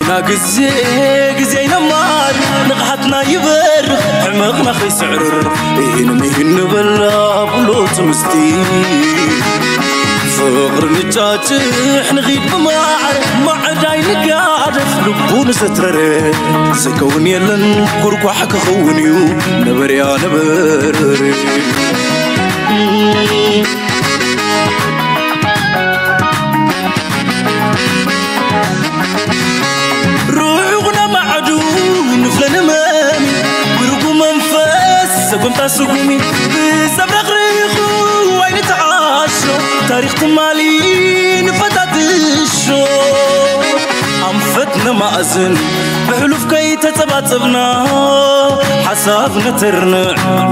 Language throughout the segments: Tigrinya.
ናግዜ ግዜ ይነማር ንቕሓትና ይበርኽ ሕመቕና ከይስዕርር ኢሂን ምሂን ንበላ ብሉጽ ምስቲ ፍቕሪ ንጫጭሕ ንኺድ ብማዕረ ማዕዳይ ንጋደፍ ልቡ ንሰትረረ ዝከውን የለን ኩርኳሕ ክኸውን እዩ ነበርያ ነበርር ሩዑቕ ነማዕዱ ንፍለ ንመሚ ውርጉ መንፈስ ሰጎምታ ስጉሚ ብሰብ ረኽሪኹ ኣይንተዓሾ ታሪኽ ትማሊ ንፈታትሾ ኣንፈት ነማእዝን ብሕሉፍ ከይተጸባጸብና ሓሳብ ነተርንዕ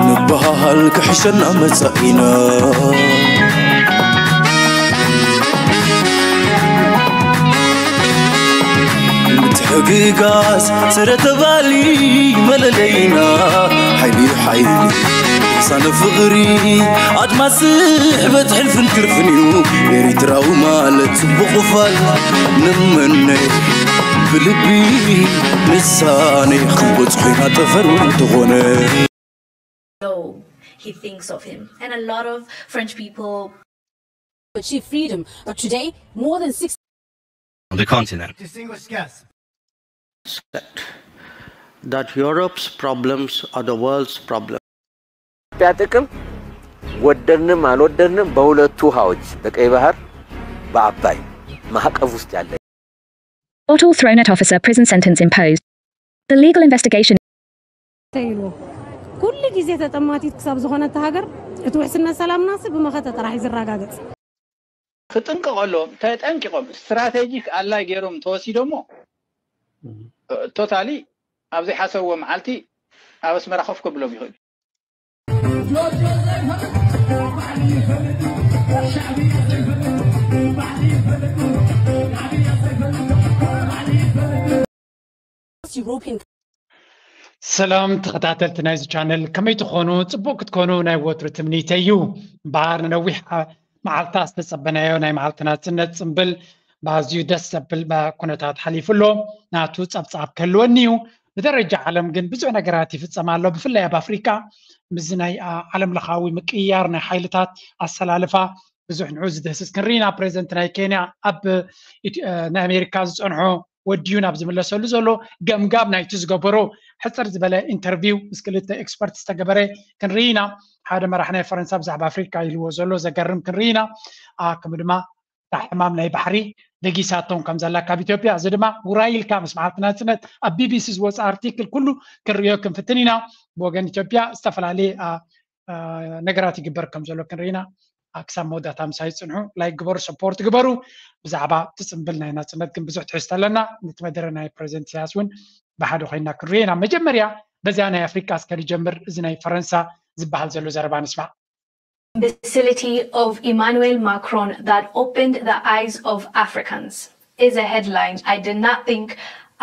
ንበሃል ክሕሸና መጻኢና ምትሕግጋዝ ስረ ተባሊ መለለይና ሓይሊ ሓይሊ ሳነ ፍቕሪ ኣድማስ ስሕበት ሕልፍን ክርፍን እዩ ኤሪትራዊ ማለት ጽቡቕ ፋል ንመነ ብልቢ ንሳኔ ክንበጽሖ ኢና ጠፈር እንተኾነ low he thinks of him. And a lot of French people achieve freedom. But today, more than six on the continent. Distinguished guests, said that Europe's problems are the world's problems. ኢትዮጵያ ጥቅም ወደድንም አልወደድንም በሁለቱ ውሃዎች በቀይ ባህር በአባይ ማዕቀፍ ውስጥ ያለ Bottle thrown at officer, prison sentence imposed. The legal investigation ተይልዎ ኩሉ ግዜ ተጠማቲት ክሳብ ዝኾነት ሃገር እቲ ውሕስነት ሰላምናሲ ብመኸተ ጥራሕ እዩ ዝረጋገጽ። ክጥንቀቐሎም ተጠንቂቖም ስትራቴጂክ ኣላይ ገይሮም ተወሲዶሞ ቶታሊ ኣብ ዘይሓሰብዎ መዓልቲ ኣብ ኣስመራ ኮፍ ከብሎም ይኽእል እዩ። European ሰላም ተኸታተልቲ ናይዚ ቻነል ከመይ ትኾኑ? ጽቡቕ ክትኮኑ ናይ ወትሩ ትምኒተይ እዩ። እምበኣር ንነዊሕ መዓልታ ዝተጸበናዮ ናይ መዓልቲ ናጽነት ጽምብል ብኣዝዩ ደስ ዘብል ኩነታት ሓሊፉ ኣሎ። ናቱ ጸብጻብ ክህልወኒ እዩ። ብደረጃ ዓለም ግን ብዙሕ ነገራት ይፍጸም ኣሎ። ብፍላይ ኣብ ኣፍሪቃ ምስዚ ናይ ዓለም ለኻዊ ምቅይያር ናይ ሓይልታት ኣሰላልፋ ብዙሕ ንዑ ዝድህስስ ክንርኢና። ፕሬዚደንት ናይ ኬንያ ኣብ ናይ ኣሜሪካ ዝጸንሖ ወዲዩ ናብ ዝምለሰሉ ዘሎ ገምጋም ናይቲ ዝገበሮ ሕጽር ዝበለ ኢንተርቪው ምስ ክልተ ኤክስፐርት ዝተገበረ ክንርኢ ኢና። ሓደ መራሕ ናይ ፈረንሳ ብዛዕባ ኣፍሪካ ኢልዎ ዘሎ ዘገርም ክንርኢ ኢና። ከምኡ ድማ እታ ሕማም ናይ ባሕሪ ደጊሳቶም ከም ዘላ ካብ ኢትዮጵያ፣ እዚ ድማ ውራይ ኢልካ ምስ መዓልቲ ናጽነት ኣብ ቢቢሲ ዝወፀ ኣርቲክል ኩሉ ክንርእዮ ክንፍትን ኢና። ብወገን ኢትዮጵያ ዝተፈላለየ ነገራት ይግበር ከም ዘሎ ክንርኢ ኢና። ክሳብ መወዳእታ ምሳይ ጽንሑ፣ ላይክ ግበሩ፣ ሰፖርት ግበሩ። ብዛዕባ እቲ ጽምብል ናይ ናጽነት ግን ብዙሕ ትሕዝቶ ኣለና። ነቲ መደረ ናይ ፕሬዚደንት ኢሳያስ እውን ብሓደ ኮይና ክንሪኦ ኢና። መጀመርያ በዚኣ ናይ ኣፍሪቃ እስከ ንጀምር። እዚ ናይ ፈረንሳ ዝበሃል ዘሎ ዘረባ ንስማዕ። Imbecility of Emmanuel Macron that opened the eyes of Africans is a headline I did not think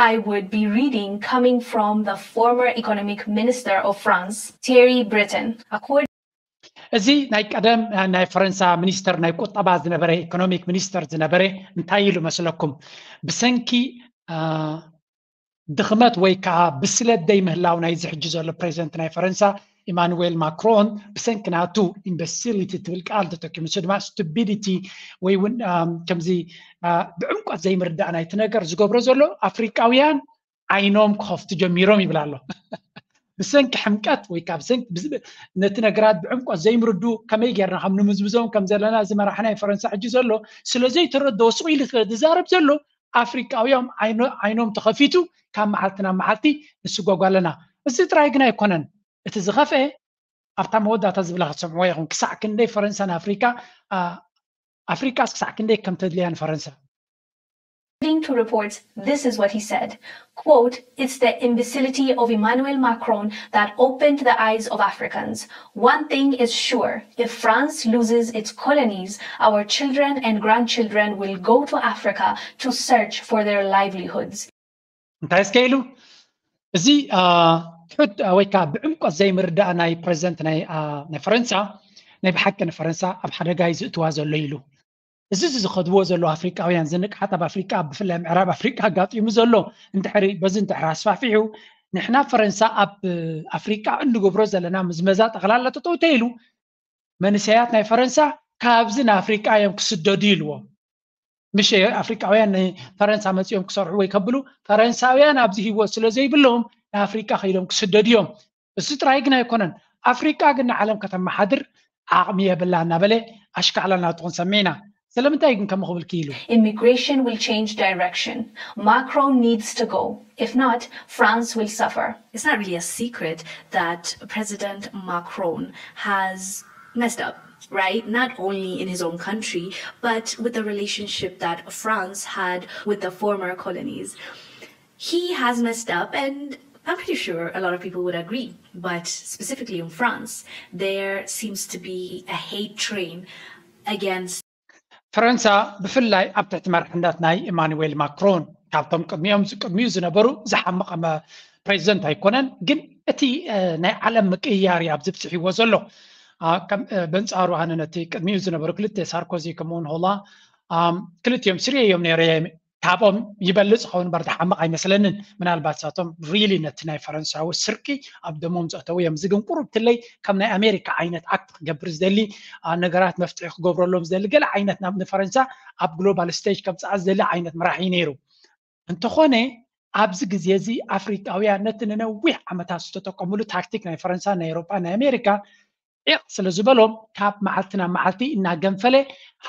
I would be reading coming from the former economic minister of France, Thierry Breton. According እዚ ናይ ቀደም ናይ ፈረንሳ ሚኒስተር ናይ ቁጠባ ዝነበረ ኢኮኖሚክ ሚኒስተር ዝነበረ እንታይ ኢሉ መስለኩም? ብሰንኪ ድኽመት ወይ ከዓ ብስለት ዘይምህላው ናይዚ ሕጂ ዘሎ ፕሬዚደንት ናይ ፈረንሳ ኢማኑዌል ማክሮን ብሰንኪ ናቱ ኢምበሲሊቲ ትብል ቃል ተጠቂሙ፣ ንሱ ድማ ስቱቢዲቲ ወይ እውን ከምዚ ብዕምቆት ዘይምርዳእ ናይቲ ነገር ዝገብሮ ዘሎ ኣፍሪቃውያን ዓይኖም ክኸፍቱ ጀሚሮም ይብል ኣሎ። ብሰንኪ ሕምቀት ወይ ካብ ሰንኪ ነቲ ነገራት ብዕምቆት ዘይምርዱ ከመይ ጌርና ከም ንምዝምዞም ከም ዘለና እዚ መራሒ ናይ ፈረንሳ ሕጂ ዘሎ ስለ ዘይተረድኦ ስቕ ኢሉ ዝዛረብ ዘሎ ኣፍሪቃውያን ዓይኖም ተኸፊቱ ካብ መዓልቲ ናብ መዓልቲ ንስጎጎ ኣለና። እዚ ጥራይ ግን ኣይኮነን። እቲ ዝኸፍኤ ኣብታ መወዳእታ ዝብላ ክትሰምዕዎ ኢኹም። ክሳዕ ክንደይ ፈረንሳ ንኣፍሪቃ ኣፍሪቃስ ክሳዕ ክንደይ ከም ተድልያ ንፈረንሳ According to reports, this is what he said, quote, "It's the imbecility of Emmanuel Macron that opened the eyes of Africans. One thing is sure, if France loses its colonies, our children and grandchildren will go to Africa to search for their livelihoods." እንታይ እስከ ኢሉ? እዚ ትሑት ወይ ከዓ ብዕምቆት ዘይምርዳእ ናይ ፕሬዚደንት ናይ ፈረንሳ ናይ ብሓቂ ንፈረንሳ ኣብ ሓደጋ እዩ ዝእትዋ ዘሎ ኢሉ። እዚ ዝኸድዎ ዘሎ ኣፍሪቃውያን ዝንቅሓት ኣብ ኣፍሪቃ ብፍላይ ምዕራብ ኣፍሪቃ ኣጋጢሙ ዘሎ እንድሕሪ በዚ እንድሕር ኣስፋፊሑ ንሕና ፈረንሳ ኣብ ኣፍሪቃ እንገብሮ ዘለና ምዝመዛ ጠቕላላ ተጠውተ ኢሉ መንሰያት ናይ ፈረንሳ ካብዚ ንኣፍሪቃ እዮም ክስደዱ ኢልዎም። ምሽ ኣፍሪቃውያን ንፈረንሳ መፂኦም ክሰርሑ ወይ ከብሉ ፈረንሳውያን ኣብዚ ህይወት ስለ ዘይብሎም ንኣፍሪቃ ከይዶም ክስደዱ እዮም። እሱ ጥራይ ግን ኣይኮነን። ኣፍሪቃ ግን ንዓለም ከተመሓድር ዓቕሚ የብላ እናበለ ኣሽካዕላ ናቱ ክንሰምዕ ኢና። ስለምንታይ ግን ከምኡ ክብል ክኢሉ? Immigration will change direction. Macron needs to go. If not, France will suffer. It's not really a secret that President Macron has messed up, right? Not only in his own country, but with the relationship that France had with the former colonies. He has messed up, and I'm pretty sure a lot of people would agree, but specifically in France, there seems to be a hate train against ፈረንሳ ብፍላይ ኣብ ትሕቲ መርሕነት ናይ ኢማኑዌል ማክሮን ካብቶም ቅድሚኦም ቅድሚኡ ዝነበሩ ዝሓመቐ ፕሬዚደንት ኣይኮነን፣ ግን እቲ ናይ ዓለም ምቅይያር እዩ ኣብዚ ብፅሒዎ ዘሎ። በንፃሩ ኣነ ነቲ ቅድሚኡ ዝነበሩ ክልተ ሳርኮዚ ከምኡውን ሆላ ክልቲኦም ስርየ እዮም ነይረ ካብኦም ይበልፅ ኸውን በር ዝሓመቕ ኣይመስለንን። ምናልባት ሳቶም ሪሊ ነቲ ናይ ፈረንሳዊ ስርቂ ኣብ ደሞም ዘእተው እዮም። እዚ ግን ቁሩብ ትለይ ከም ናይ ኣሜሪካ ዓይነት ኣክት ክገብር ዝደሊ ነገራት መፍትሒ ክገብረሎም ዝደሊ ገለ ዓይነት ናብ ንፈረንሳ ኣብ ግሎባል ስቴጅ ከምፅኣ ዝደሊ ዓይነት መራሒ ነይሩ። እንተኾነ ኣብዚ ግዜ እዚ ኣፍሪቃውያን ነቲ ንነዊሕ ዓመታት ዝተጠቀሙሉ ታክቲክ ናይ ፈረንሳ ናይ ኤሮጳ ናይ ኣሜሪካ ዒቕ ስለ ዝበሎም ካብ መዓልቲ ናብ መዓልቲ እናገንፈለ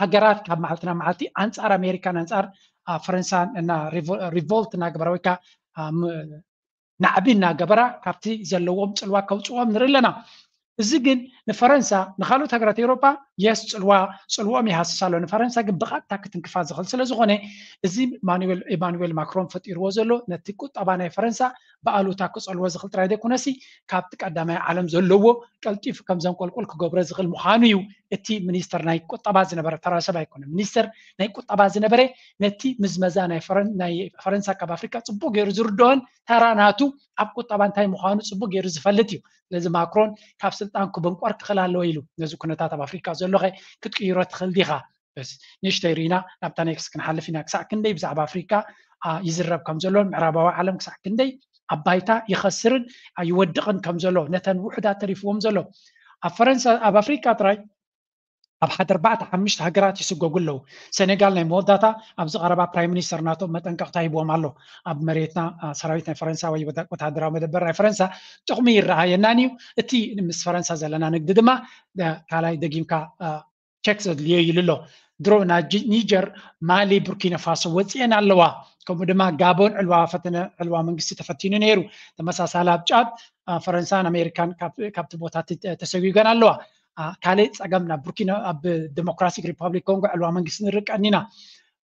ሃገራት ካብ መዓልቲ ናብ መዓልቲ ኣንፃር ኣሜሪካን ኣንፃር ፈረንሳን እና ሪቮልት እናገበረ ወይ ከዓ ናዕቢ እናገበራ ካብቲ ዘለዎም ፅልዋ ከውፅዎም ንርኢ ኣለና። እዚ ግን ንፈረንሳ ንካልኦት ሃገራት ኤውሮጳ የስ ፅልዋ ፅልዎም ይሃስስ ኣሎ። ንፈረንሳ ግን ብቐጥታ ክትንክፋ ዝኽእል ስለ ዝኾነ እዚ ኢማኑዌል ማክሮን ፈጢርዎ ዘሎ ነቲ ቁጠባ ናይ ፈረንሳ ብኣሉታ ክፀልዎ ዝኽእል ጥራይ ዘይኮነሲ ካብቲ ቀዳማይ ዓለም ዘለዎ ቀልጢፉ ከም ዘንቆልቁል ክገብሮ ዝኽእል ምዃኑ እዩ። እቲ ሚኒስተር ናይ ቁጠባ ዝነበረ ተራ ሰብ ኣይኮነ ሚኒስተር ናይ ቁጠባ ዝነበረ ነቲ ምዝመዛ ናይ ፈረንሳ ካብ ኣፍሪካ ፅቡቅ ገይሩ ዝርድኦን ተራ ናቱ ኣብ ቁጠባ እንታይ ምዃኑ ፅቡቅ ገይሩ ዝፈልጥ እዩ። ስለዚ ማክሮን ካብ ስልጣን ክብንቆር ክኽእል ኣለዎ ኢሉ ነዚ ኩነታት ኣብ ኣፍሪካ ዘሎኸ ክትቅይሮ ትኽእል ዲኻ? ንእሽተይ ርኢና ናብታ ኔክስት ክንሓልፍ ኢና። ክሳዕ ክንደይ ብዛዕባ ኣፍሪካ ይዝረብ ከም ዘሎ ምዕራባዊ ዓለም ክሳዕ ክንደይ ኣብ ባይታ ይኸስርን ይወድቕን ከም ዘሎ ነተን ውሕዳት ተሪፍዎም ዘሎ ኣብ ፈረንሳ ኣብ ኣፍሪካ ጥራይ ኣብ ሓደ ኣርባዕተ ሓሙሽተ ሃገራት ይስጎጉ ኣለዉ። ሴኔጋል ናይ መወዳእታ ኣብዚ ቀረባ ፕራይም ሚኒስተር ናቶም መጠንቀቕታ ሂብዎም ኣሎ። ኣብ መሬትና ሰራዊት ናይ ፈረንሳ ወይ ወታደራዊ መደበር ናይ ፈረንሳ ጥቕሚ ይረኣየናን እዩ። እቲ ምስ ፈረንሳ ዘለና ንግዲ ድማ ካልኣይ ደጊምካ ቸክ ዘድልዮ ኢሉ ኣሎ። ድሮ ናብ ኒጀር፣ ማሊ፣ ቡርኪና ፋሶ ወፂኤን ኣለዋ። ከምኡ ድማ ጋቦን ዕልዋ ፈተነ ዕልዋ መንግስቲ ተፈቲኑ ነይሩ። ተመሳሳሊ ኣብ ጫድ ፈረንሳን ኣሜሪካን ካብቲ ቦታ ተሰጊገን ኣለዋ። ካልእ ፀገም ናብ ቡርኪና ኣብ ዲሞክራቲክ ሪፐብሊክ ኮንጎ ዕልዋ መንግስቲ ንርቀን ኢና።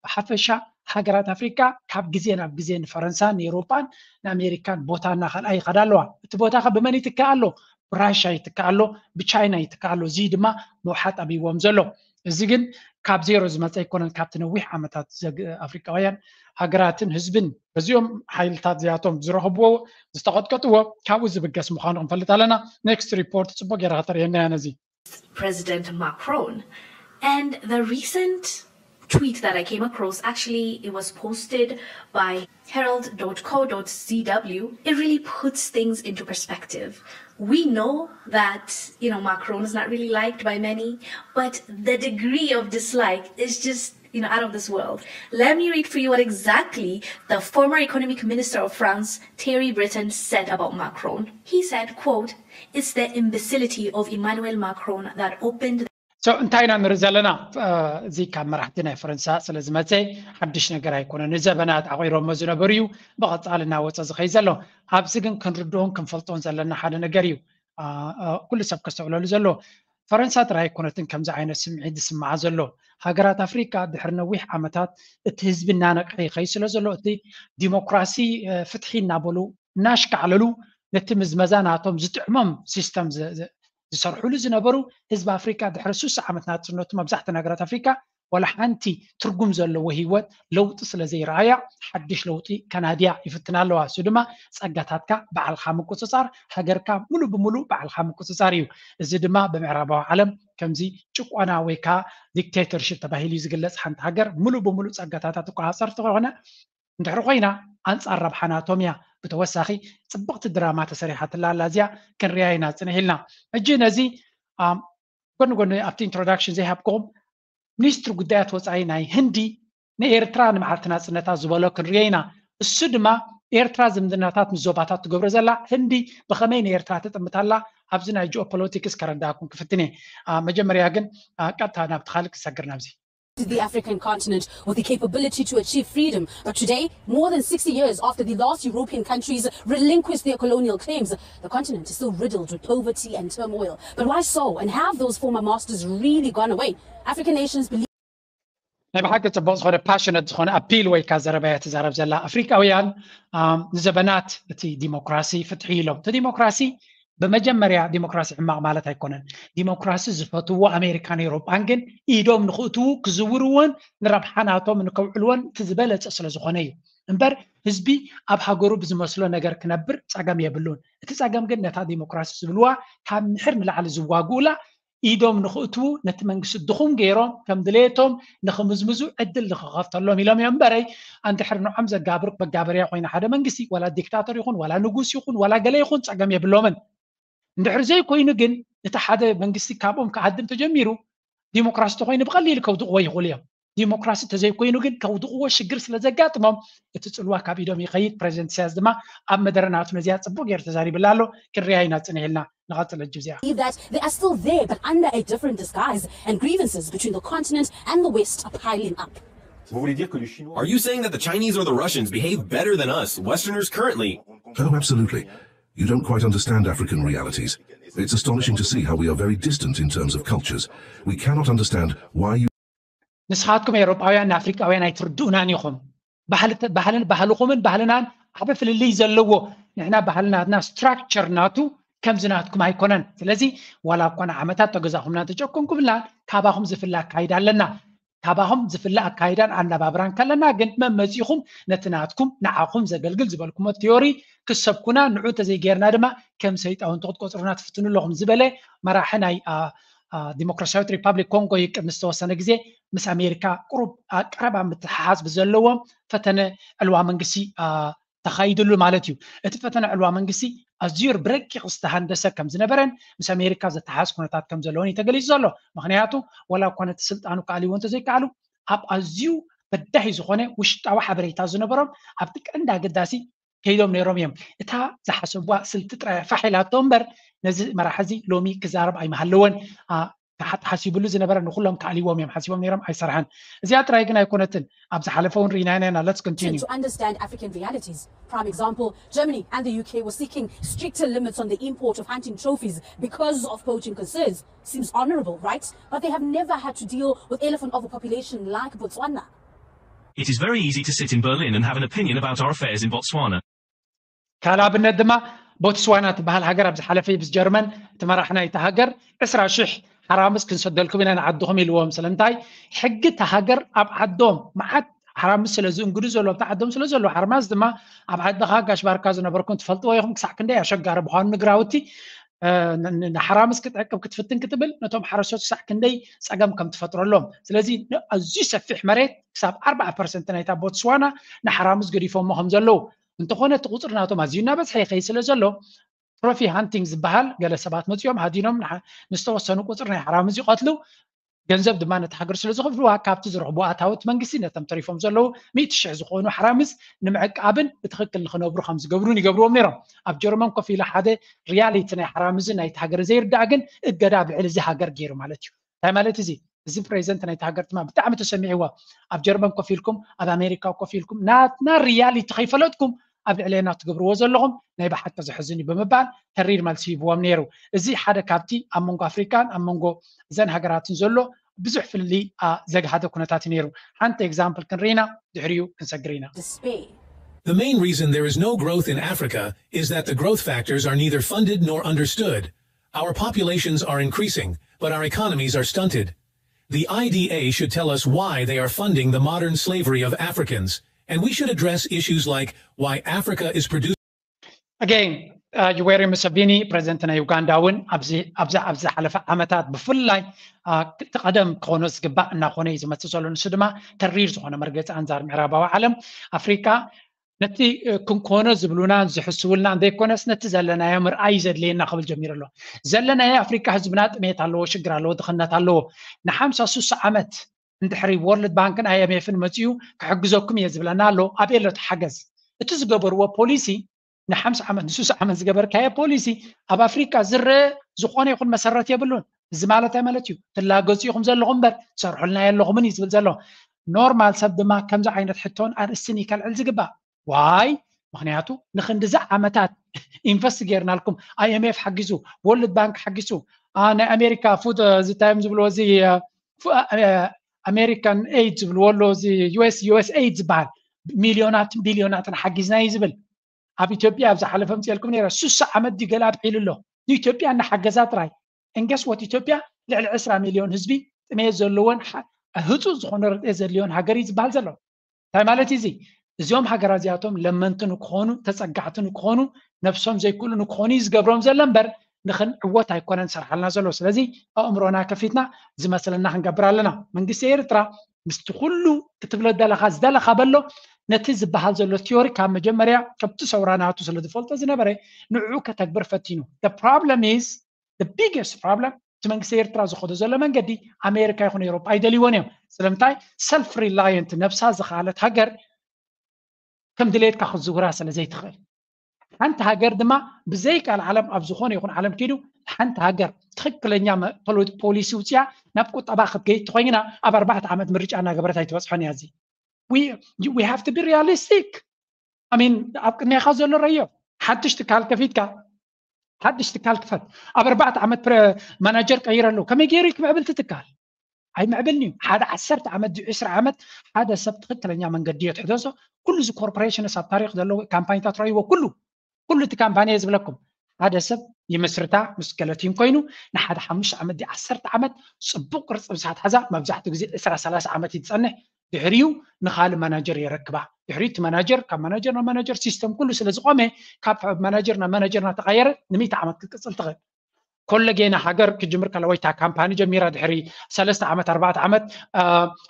ብሓፈሻ ሃገራት ኣፍሪካ ካብ ግዜ ናብ ግዜ ንፈረንሳን ንኤውሮጳን ንኣሜሪካን ቦታ እናኸልኣ ይኸዳ ኣለዋ። እቲ ቦታ ከ ብመን ይትካእ ኣሎ? ብራሻ ይትካእ ኣሎ፣ ብቻይና ይትካእ ኣሎ። እዚ ድማ መውሓጥ ኣብይዎም ዘሎ። እዚ ግን ካብ ዜሮ ዝመፀ ኣይኮነን። ካብቲ ነዊሕ ዓመታት ኣፍሪካውያን ሃገራትን ህዝብን በዚኦም ሓይልታት እዚኣቶም ዝረኸብዎ ዝተቐጥቀጥዎ ካብኡ ዝብገስ ምዃኑ ክንፈልጥ ኣለና። ኔክስት ሪፖርት ፅቡቅ ገይራ ከተርእየና እያ ነዚ። President Macron. And the recent tweet that I came across, actually, it was posted by herald.co.zw. It really puts things into perspective. We know that, you know, Macron is not really liked by many, but the degree of dislike is just, you know, out of this world. Let me read for you what exactly the former economic minister of France, Thierry Breton, said about Macron. He said, quote, "It's the imbecility of Emmanuel Macron that opened the" እንታይ ኢና ንርኢ ዘለና? እዚ ካብ መራሕቲ ናይ ፈረንሳ ስለ ዝመፀ ሓድሽ ነገር ኣይኮነን። ንዘበናት ዓቂሮሞ ዝነበሩ እዩ፣ ብቐፃሊ እናወፀ ዝኸይ ዘሎ። ኣብዚ ግን ክንርድኦን ክንፈልጦን ዘለና ሓደ ነገር እዩ። ኩሉ ሰብ ከስተውዕለሉ ዘሎ ፈረንሳ ጥራይ ኣይኮነትን ከምዚ ዓይነት ስምዒት ዝስምዓ ዘሎ። ሃገራት ኣፍሪካ ድሕሪ ነዊሕ ዓመታት እቲ ህዝቢ እናነቅሐ ይኸይ ስለ ዘሎ እቲ ዲሞክራሲ ፍትሒ እናበሉ እናሽካዕለሉ ነቲ ምዝመዛ ናቶም ዝጥዕሞም ሲስተም ዝሰርሕሉ ዝነበሩ ህዝቢ ኣፍሪካ ድሕሪ ሱሳ ዓመት ናፅነቱ መብዛሕትኡ ሃገራት ኣፍሪካ ዋላ ሓንቲ ትርጉም ዘለዎ ህይወት ለውጢ ስለ ዘይረኣያ ሓድሽ ለውጢ ከናድያ ይፍትና ኣለዋ። እሱ ድማ ጸጋታትካ ባዕልኻ ምቁጽጻር፣ ሃገርካ ሙሉ ብሙሉ ባዕልኻ ምቁጽጻር እዩ። እዚ ድማ ብምዕራባዊ ዓለም ከምዚ ጭቆና ወይ ከዓ ዲክቴተርሽፕ ተባሂሉ እዩ ዝግለጽ። ሓንቲ ሃገር ሙሉ ብሙሉ ጸጋታታ ትቆጻጸር ተኾነ እንድሕር ኮይና ኣንጻር ረብሓ ናቶም እያ። ብተወሳኺ ጽብቕቲ ድራማ ተሰሪሓትላ ኣላ እዚኣ ክንሪያ ኢና ጽንሕ ኢልና። ሕጂ ነዚ ጎኒ ጎኒ ኣብቲ ኢንትሮዳክሽን ዘይሃብክኹም ሚኒስትሪ ጉዳያት ወፃኢ ናይ ህንዲ ንኤርትራ ንመዓልቲ ናፅነታ ዝበሎ ክንሪኦ ኢና። እሱ ድማ ኤርትራ ዝምድናታት ምስ ዞባታት ትገብሮ ዘላ ህንዲ ብኸመይ ንኤርትራ ትጥምታላ ኣብዚ ናይ ጂኦፖለቲክስ ከረዳእኩም ክፍትን እየ። መጀመርያ ግን ቀጥታ ናብቲ ካልእ ክሰግር ናብዚ the African continent with the capability to achieve freedom. But today, more than sixty years after the last European countries relinquished their colonial claims, the continent is still riddled with poverty and turmoil. But why so? And have those former masters really gone away? African nations believe ናይ ብሓቂ ፅቡቅ ዝኾነ ፓሽነት ዝኾነ ኣፒል ወይ ካ ዘረባያ ትዛረብ ዘላ ኣፍሪቃውያን ንዘበናት እቲ ዲሞክራሲ ፍትሒ ኢሎም እቲ ዲሞክራሲ ብመጀመርያ ዲሞክራሲ ሕማቕ ማለት ኣይኮነን። ዲሞክራሲ ዝፈትዎ ኣሜሪካን ኤውሮጳን ግን ኢዶም ንኽእትዉ ክዝውርዎን ንረብሓ ናቶም ንከውዕልዎን እቲ ዝበለጸ ስለ ዝኾነ እዩ። እምበር ህዝቢ ኣብ ሃገሩ ብዝመስሎ ነገር ክነብር ጸገም የብሉን። እቲ ጸገም ግን ነታ ዲሞክራሲ ዝብልዋ ካብ ምሕር ንላዕሊ ዝዋግኡላ ኢዶም ንኽእትዉ ነቲ መንግስቲ ድኹም ገይሮም ከም ድሌቶም ንኽምዝምዙ ዕድል ንኽኸፍተሎም ኢሎም እዮም እምበረይ ኣንድሕር ንዖም ዘጋብር መጋበርያ ኮይና ሓደ መንግስቲ ዋላ ዲክታተር ይኹን ዋላ ንጉስ ይኹን ዋላ ገለ ይኹን ጸገም የብሎምን። እንድሕር ዘይኮይኑ ግን እቲ ሓደ መንግስቲ ካብኦም ክሃድም ተጀሚሩ ዲሞክራሲ ተኮይኑ ብቀሊሉ ከውድቅዎ ይኽእሉ እዮም። ዲሞክራሲ ተዘይኮይኑ ግን ከውድቅዎ ሽግር ስለ ዘጋጥሞም እቲ ፅልዋ ካብ ኢዶም ይኸይድ። ፕሬዚደንት ኢሳያስ ድማ ኣብ መደረ ናቱ ነዚኣ ፅቡቅ ገይሩ ተዛሪብላ ኣሎ። ክንሪኣ ኢና ፅንሕ ኢልና ንቐፅል ሕጂ እዚኣ believe that they are still there but under a different disguise and grievances between the continent and the West are piling up. Are you saying that the Chinese or the Russians behave better than us, Westerners, currently? Oh, absolutely. You don't quite understand African realities. It's astonishing to see how we are very distant in terms of cultures. We cannot understand why you ንስኻትኩም ኤውሮጳውያን ንኣፍሪቃውያን ኣይትርድኡናን ኢኹም። ባህልን ባህልኹምን ባህልናን ዓበ ፍልልይ ዘለዎ ንሕና ባህልናትና ስትራክቸር ናቱ ከምዚ ናትኩም ኣይኮነን። ስለዚ ዋላ እኳ ንዓመታት ተገዛኹምና ተጨቆንኩምና ካባኹም ዝፍለ ኣካይዳ ኣለና። ካባኹም ዝፍለ ኣካይዳን ኣነባብራን ከለና ግን መመፂኹም ነቲ ናትኩም ንዓኹም ዘገልግል ዝበልኩሞ ቲዮሪ ክሰብኩና ንዑ እንተዘይጌርና ድማ ከም ሰይጣውንቲ ክትቆፅሩና ትፍትኑ ኣለኹም ዝበለ መራሒ ናይ ዲሞክራሲያዊት ሪፓብሊክ ኮንጎ ይቅድሚ ዝተወሰነ ግዜ ምስ ኣሜሪካ ቁሩብ ቀረባ ምትሓሓዝ ብዘለዎም ፈተነ ዕልዋ መንግስቲ ተኻይድሉ ማለት እዩ። እቲ ፈተነ ዕልዋ መንግስቲ ኣዝዩ ብረቂቕ ዝተሃንደሰ ከም ዝነበረን ምስ ኣሜሪካ ዘተሓዝ ኩነታት ከም ዘለዎን እዩ ተገሊጹ ዘሎ። ምክንያቱ ወላ እኳ ነቲ ስልጣኑ ክኣልይዎ እንተዘይከኣሉ ኣብ ኣዝዩ በዳሂ ዝኾነ ውሽጣዊ ሓበሬታ ዝነበሮም ኣብቲ ቀንዲ ኣገዳሲ ከይዶም ነይሮም እዮም። እታ ዝሓሰብዋ ስልቲ ጥራይ ፋሕ ኢላቶ እምበር ነዚ መራሒ እዚ ሎሚ ክዛረብ ኣይምሃለወን። ተሓሲብሉ ዝነበረ ንኩሎም ክኣልይዎም እዮም ሓሲቦም ነይሮም ኣይሰርሐን። እዚኣ ጥራይ ግን ኣይኮነትን ኣብ ዝሓለፈ እውን ርኢናና ኢና። Let's continue. To understand African realities. Prime example, Germany and the U K were seeking stricter limits on the import of hunting trophies because of poaching concerns. Seems honorable, right? But they have never had to deal with elephant overpopulation like Botswana. It is very easy to sit in Berlin and have an opinion about our affairs in Botswana. ካልእ ኣብነት ድማ ቦትስዋና ትበሃል ሃገር ኣብ ዝሓለፈ ምስ ጀርመን እቲ መራሕ ናይቲ ሃገር ዕስራ ሽሕ ሓራምዝ ክንሰደልኩም ኢና ንዓድኹም ኢልዎም። ስለምንታይ ሕጊ እቲ ሃገር ኣብ ዓዶም መዓት ሓራምዝ ስለ ዝእንግዱ ዘሎ ኣብቲ ዓዶም ስለ ዘሎ ሓርማዝ ድማ ኣብ ዓድኻ ጋሽ ባርካ ዝነበርኩም ትፈልጥዎ ኢኹም ክሳዕ ክንደይ ኣሸጋሪ ምዃኑ ንግራውቲ ንሓራምዝ ክትዕቅብ ክትፍትን ክትብል ነቶም ሓረስቶት ክሳዕ ክንደይ ፀገም ከም ትፈጥረሎም። ስለዚ ኣዝዩ ሰፊሕ መሬት ክሳብ ኣርባዓ ፐርሰንት ናይታ ቦትስዋና ንሓራምዝ ገዲፎሞ ከም ዘለዉ እንተኾነ እቲ ቁፅሪ ናቶም ኣዝዩ እናበዝሐ ይኸይድ ስለ ዘሎ ትሮፊ ሃንቲንግ ዝበሃል ገለ ሰባት መፂኦም ሃዲኖም ንዝተወሰኑ ቁፅሪ ናይ ሓራምዝ ይቐትሉ። ገንዘብ ድማ ነቲ ሃገር ስለ ዝኽፍልዋ ካብቲ ዝረኽቡ ኣታውት መንግስቲ ነቶም ተሪፎም ዘለዉ ሚእቲ ሽሕ ዝኾኑ ሓራምዝ ንምዕቃብን ብትኽክል ንኽነብሩ ከም ዝገብሩን ይገብርዎም ነይሮም። ኣብ ጀርመን ኮፍ ኢለ ሓደ ሪያሊቲ ናይ ሓራምዝን ናይቲ ሃገርን ዘይርዳእ ግን እገዳ ኣብ ልዕሊ እዚ ሃገር ገይሩ ማለት እዩ። እንታይ ማለት እዚ? እዚ ፕሬዚደንት ናይቲ ሃገር ድማ ብጣዕሚ ተሰሚዕዎ። ኣብ ጀርመን ኮፍ ኢልኩም ኣብ ኣሜሪካ ኮፍ ኢልኩም ናትና ሪያሊቲ ከይፈለጥኩም ኣብ ልዕሌና ትገብርዎ ዘለኹም ናይ ብሓቂ ዘሕዝን እዩ ብምባል ተሪር መልሲ ሂብዎም ነይሩ። እዚ ሓደ ካብቲ ኣብ መንጎ ኣፍሪካን ኣብ መንጎ እዘን ሃገራትን ዘሎ ብዙሕ ፍልልይ ዘግሃደ ኩነታት እዩ ነይሩ። ሓንቲ ኤግዛምፕል ክንርኢና ድሕሪኡ ክንሰግር ኢና። Despair. The main reason there is no growth in Africa is that the growth factors are neither funded nor understood. Our populations are increasing, but our economies are stunted. The I D A should tell us why they are funding the modern slavery of Africans, and we should address issues like why Africa is producing Again, uh, Yoweri Museveni ፕሬዚደንት ናይ ዩጋንዳ እውን ኣብዚ ኣብዛ ኣብ ዝሓለፈ ዓመታት ብፍላይ እቲ ቀደም ክኾኖ ዝግባእ እናኾነ እዩ ዝመፅእ ዘሎ። ንሱ ድማ ተሪር ዝኾነ መርገፂ ኣንፃር ምዕራባዊ ዓለም ኣፍሪካ ነቲ ክንኮኖ ዝብሉና ዝሕስቡልና ዘይኮነስ ነቲ ዘለናዮ ምርኣይ ዘድልየና ክብል ጀሚሩ ኣሎ። ዘለናዮ ኣፍሪካ ህዝብና ጥሜት ኣለዎ፣ ሽግር ኣለዎ፣ ድኽነት ኣለዎ። ንሓምሳ ሱሳ ዓመት እንድሕሪ ወርልድ ባንክን ኣይኤምኤፍን መፅኡ ክሕግዘኩም እየ ዝብለና ኣሎ። ኣበይ ኣሎ እቲ ሓገዝ? እቲ ዝገበርዎ ፖሊሲ ንሓምሳ ዓመት ንሱሳ ዓመት ዝገበርካዮ ፖሊሲ ኣብ ኣፍሪካ ዝረአ ዝኾነ ይኹን መሰረት የብሉን። እዚ ማለት እንታይ ማለት እዩ? ትላገፁ ኢኹም ዘለኹም እምበር ትሰርሑልና የለኹምን እዩ ዝብል ዘሎ። ኖርማል ሰብ ድማ ከምዚ ዓይነት ሕቶን ኣርእስትን እዩ ከልዕል ዝግባእ። ዋይ? ምክንያቱ ንክንድዚ ዓመታት ኢንቨስት ጌርናልኩም፣ ኣይኤምኤፍ ሓጊዙ፣ ወርልድ ባንክ ሓጊዙ፣ ናይ ኣሜሪካ ፉድ ዝታዮም ዝብልዎ እዚ ኣሜሪካን ኤድ ዝብልዎ ኣሎ፣ እዚ ዩኤስ ዩኤስ ኤድ ዝበሃል ሚልዮናትን ቢልዮናትን ሓጊዝና እዩ ዝብል። ኣብ ኢትዮጵያ ኣብ ዝሓለፈ ምፅኤልኩም ነረ ሱሳ ዓመት ድዩ ገለ ኣብዒሉ ኣሎ ንኢትዮጵያ እናሓገዛ ጥራይ። እንገስ ወት ኢትዮጵያ ልዕሊ ዕስራ ሚልዮን ህዝቢ ጥሜት ዘለዎን ህፁፅ ዝኾነ ርድኤት ዘድልዮን ሃገር እዩ ዝበሃል ዘሎ። እንታይ ማለት እዩ እዚ? እዚኦም ሃገራት እዚኣቶም ለመንቲ ንክኾኑ፣ ተፀጋዕቲ ንክኾኑ፣ ነብሶም ዘይክእሉ ንክኾኑ እዩ ዝገብሮም ዘሎ እምበር ንክንዕወት ኣይኮነን ዝሰርሓልና ዘሎ። ስለዚ ኣእምሮና ከፊትና ዝመስለና ክንገብር ኣለና። መንግስቲ ኤርትራ ምስቲ ኩሉ ክትብሎ ደለኻ ዝደለኻ በሎ ነቲ ዝበሃል ዘሎ ቲዮሪ ካብ መጀመርያ ከብቲ ሰውራ ናቱ ስለ ዝፈልጦ ዝነበረ ንዕኡ ከተግብር ፈቲኑ። The problem is the biggest problem እቲ መንግስቲ ኤርትራ ዝኸዶ ዘሎ መንገዲ ኣሜሪካ ይኹን ኤሮፓ ኣይደልይዎን እዮም። ስለምንታይ? ሰልፍ ሪላየንት ነብሳ ዝኸኣለት ሃገር ከም ድሌትካ ክትዝውራ ስለ ዘይትኽእል ሓንቲ ሃገር ድማ ብዘይ ቃል ዓለም ኣብ ዝኾነ ይኹን ዓለም ኪዱ ሓንቲ ሃገር ትኽክለኛ ፖሊሲ ውፅያ ናብ ቁጠባ ክትገይት ተኮይና ኣብ ኣርባዕተ ዓመት ምርጫ እናገበረት ኣይትበፅሖን እያ። እዚ we have to be realistic። I mean ኣብ ቅድሜኻ ዘሎ ረዮ ሓድሽ ትካል ከፊትካ ሓድሽ ትካል ክፈት ኣብ ኣርባዕተ ዓመት ማናጀር ቀይረሉ ከመይ ገይሩ ክምዕብል ትትካል? ኣይምዕብልን እዩ። ሓደ ዓሰርተ ዓመት ድዩ ዕስራ ዓመት ሓደ ሰብ ትኽክለኛ መንገዲ እዮ ትሕደሶ። ኩሉ እዚ ኮርፖሬሽንስ ኣብ ታሪክ ዘለዎ ካምፓኒታት ረይዎ ኩሉ ኩሉ እቲ ካምፓኒ እየ ዝብለኩም ሓደ ሰብ ይመስርታ ምስ ገለቲን ኮይኑ ንሓደ ሓሙሽተ ዓመት ድዩ ዓሰርተ ዓመት ፅቡቅ ቅርፂ ምስ ኣትሓዛ መብዛሕትኡ ግዜ ዕስራ ሰላሳ ዓመት እዩ ዝፀንሕ። ድሕሪኡ ንካልእ ማናጀር የረክባ። ድሕሪኡ እቲ ማናጀር ካብ ማናጀር ናብ ማናጀር ሲስተም ኩሉ ስለ ዝቆመ ካብ ማናጀር ናብ ማናጀር እናተቃየረ ንሚእቲ ዓመት ክትቅፅል ትኽእል። ኮለጌና ሃገር ክጅምር ከለ ወይ እታ ካምፓኒ ጀሚራ ድሕሪ ሰለስተ ዓመት ኣርባዕተ ዓመት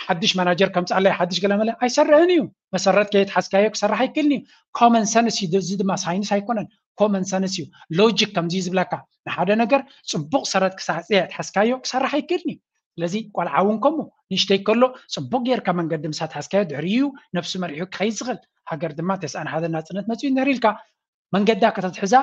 ሓድሽ ማናጀር ከምፅኣለይ ሓድሽ ገለመለ ኣይሰርሕን እዩ። መሰረት ከየትሓዝካዮ ክሰርሕ ኣይክእልን እዩ። ኮመን ሰንስ እዩ። እዚ ድማ ሳይንስ ኣይኮነን፣ ኮመን ሰንስ እዩ። ሎጂክ ከምዚ ዝብለካ ንሓደ ነገር ፅቡቅ ሰረት ክሳዕፅየ ትሓዝካዮ ክሰርሕ ኣይክእልን እዩ። ስለዚ ቆልዓ እውን ከምኡ ንእሽተይ ከሎ ፅቡቅ ጌርካ መንገዲ ምስ ኣትሓዝካዮ ድሕሪ እዩ ነብሱ መሪሑ ክኸይድ ዝኽእል። ሃገር ድማ ተስኣን ሓደ ናፅነት መፅኡ እንድሕር ኢልካ መንገዳ ከተትሕዛ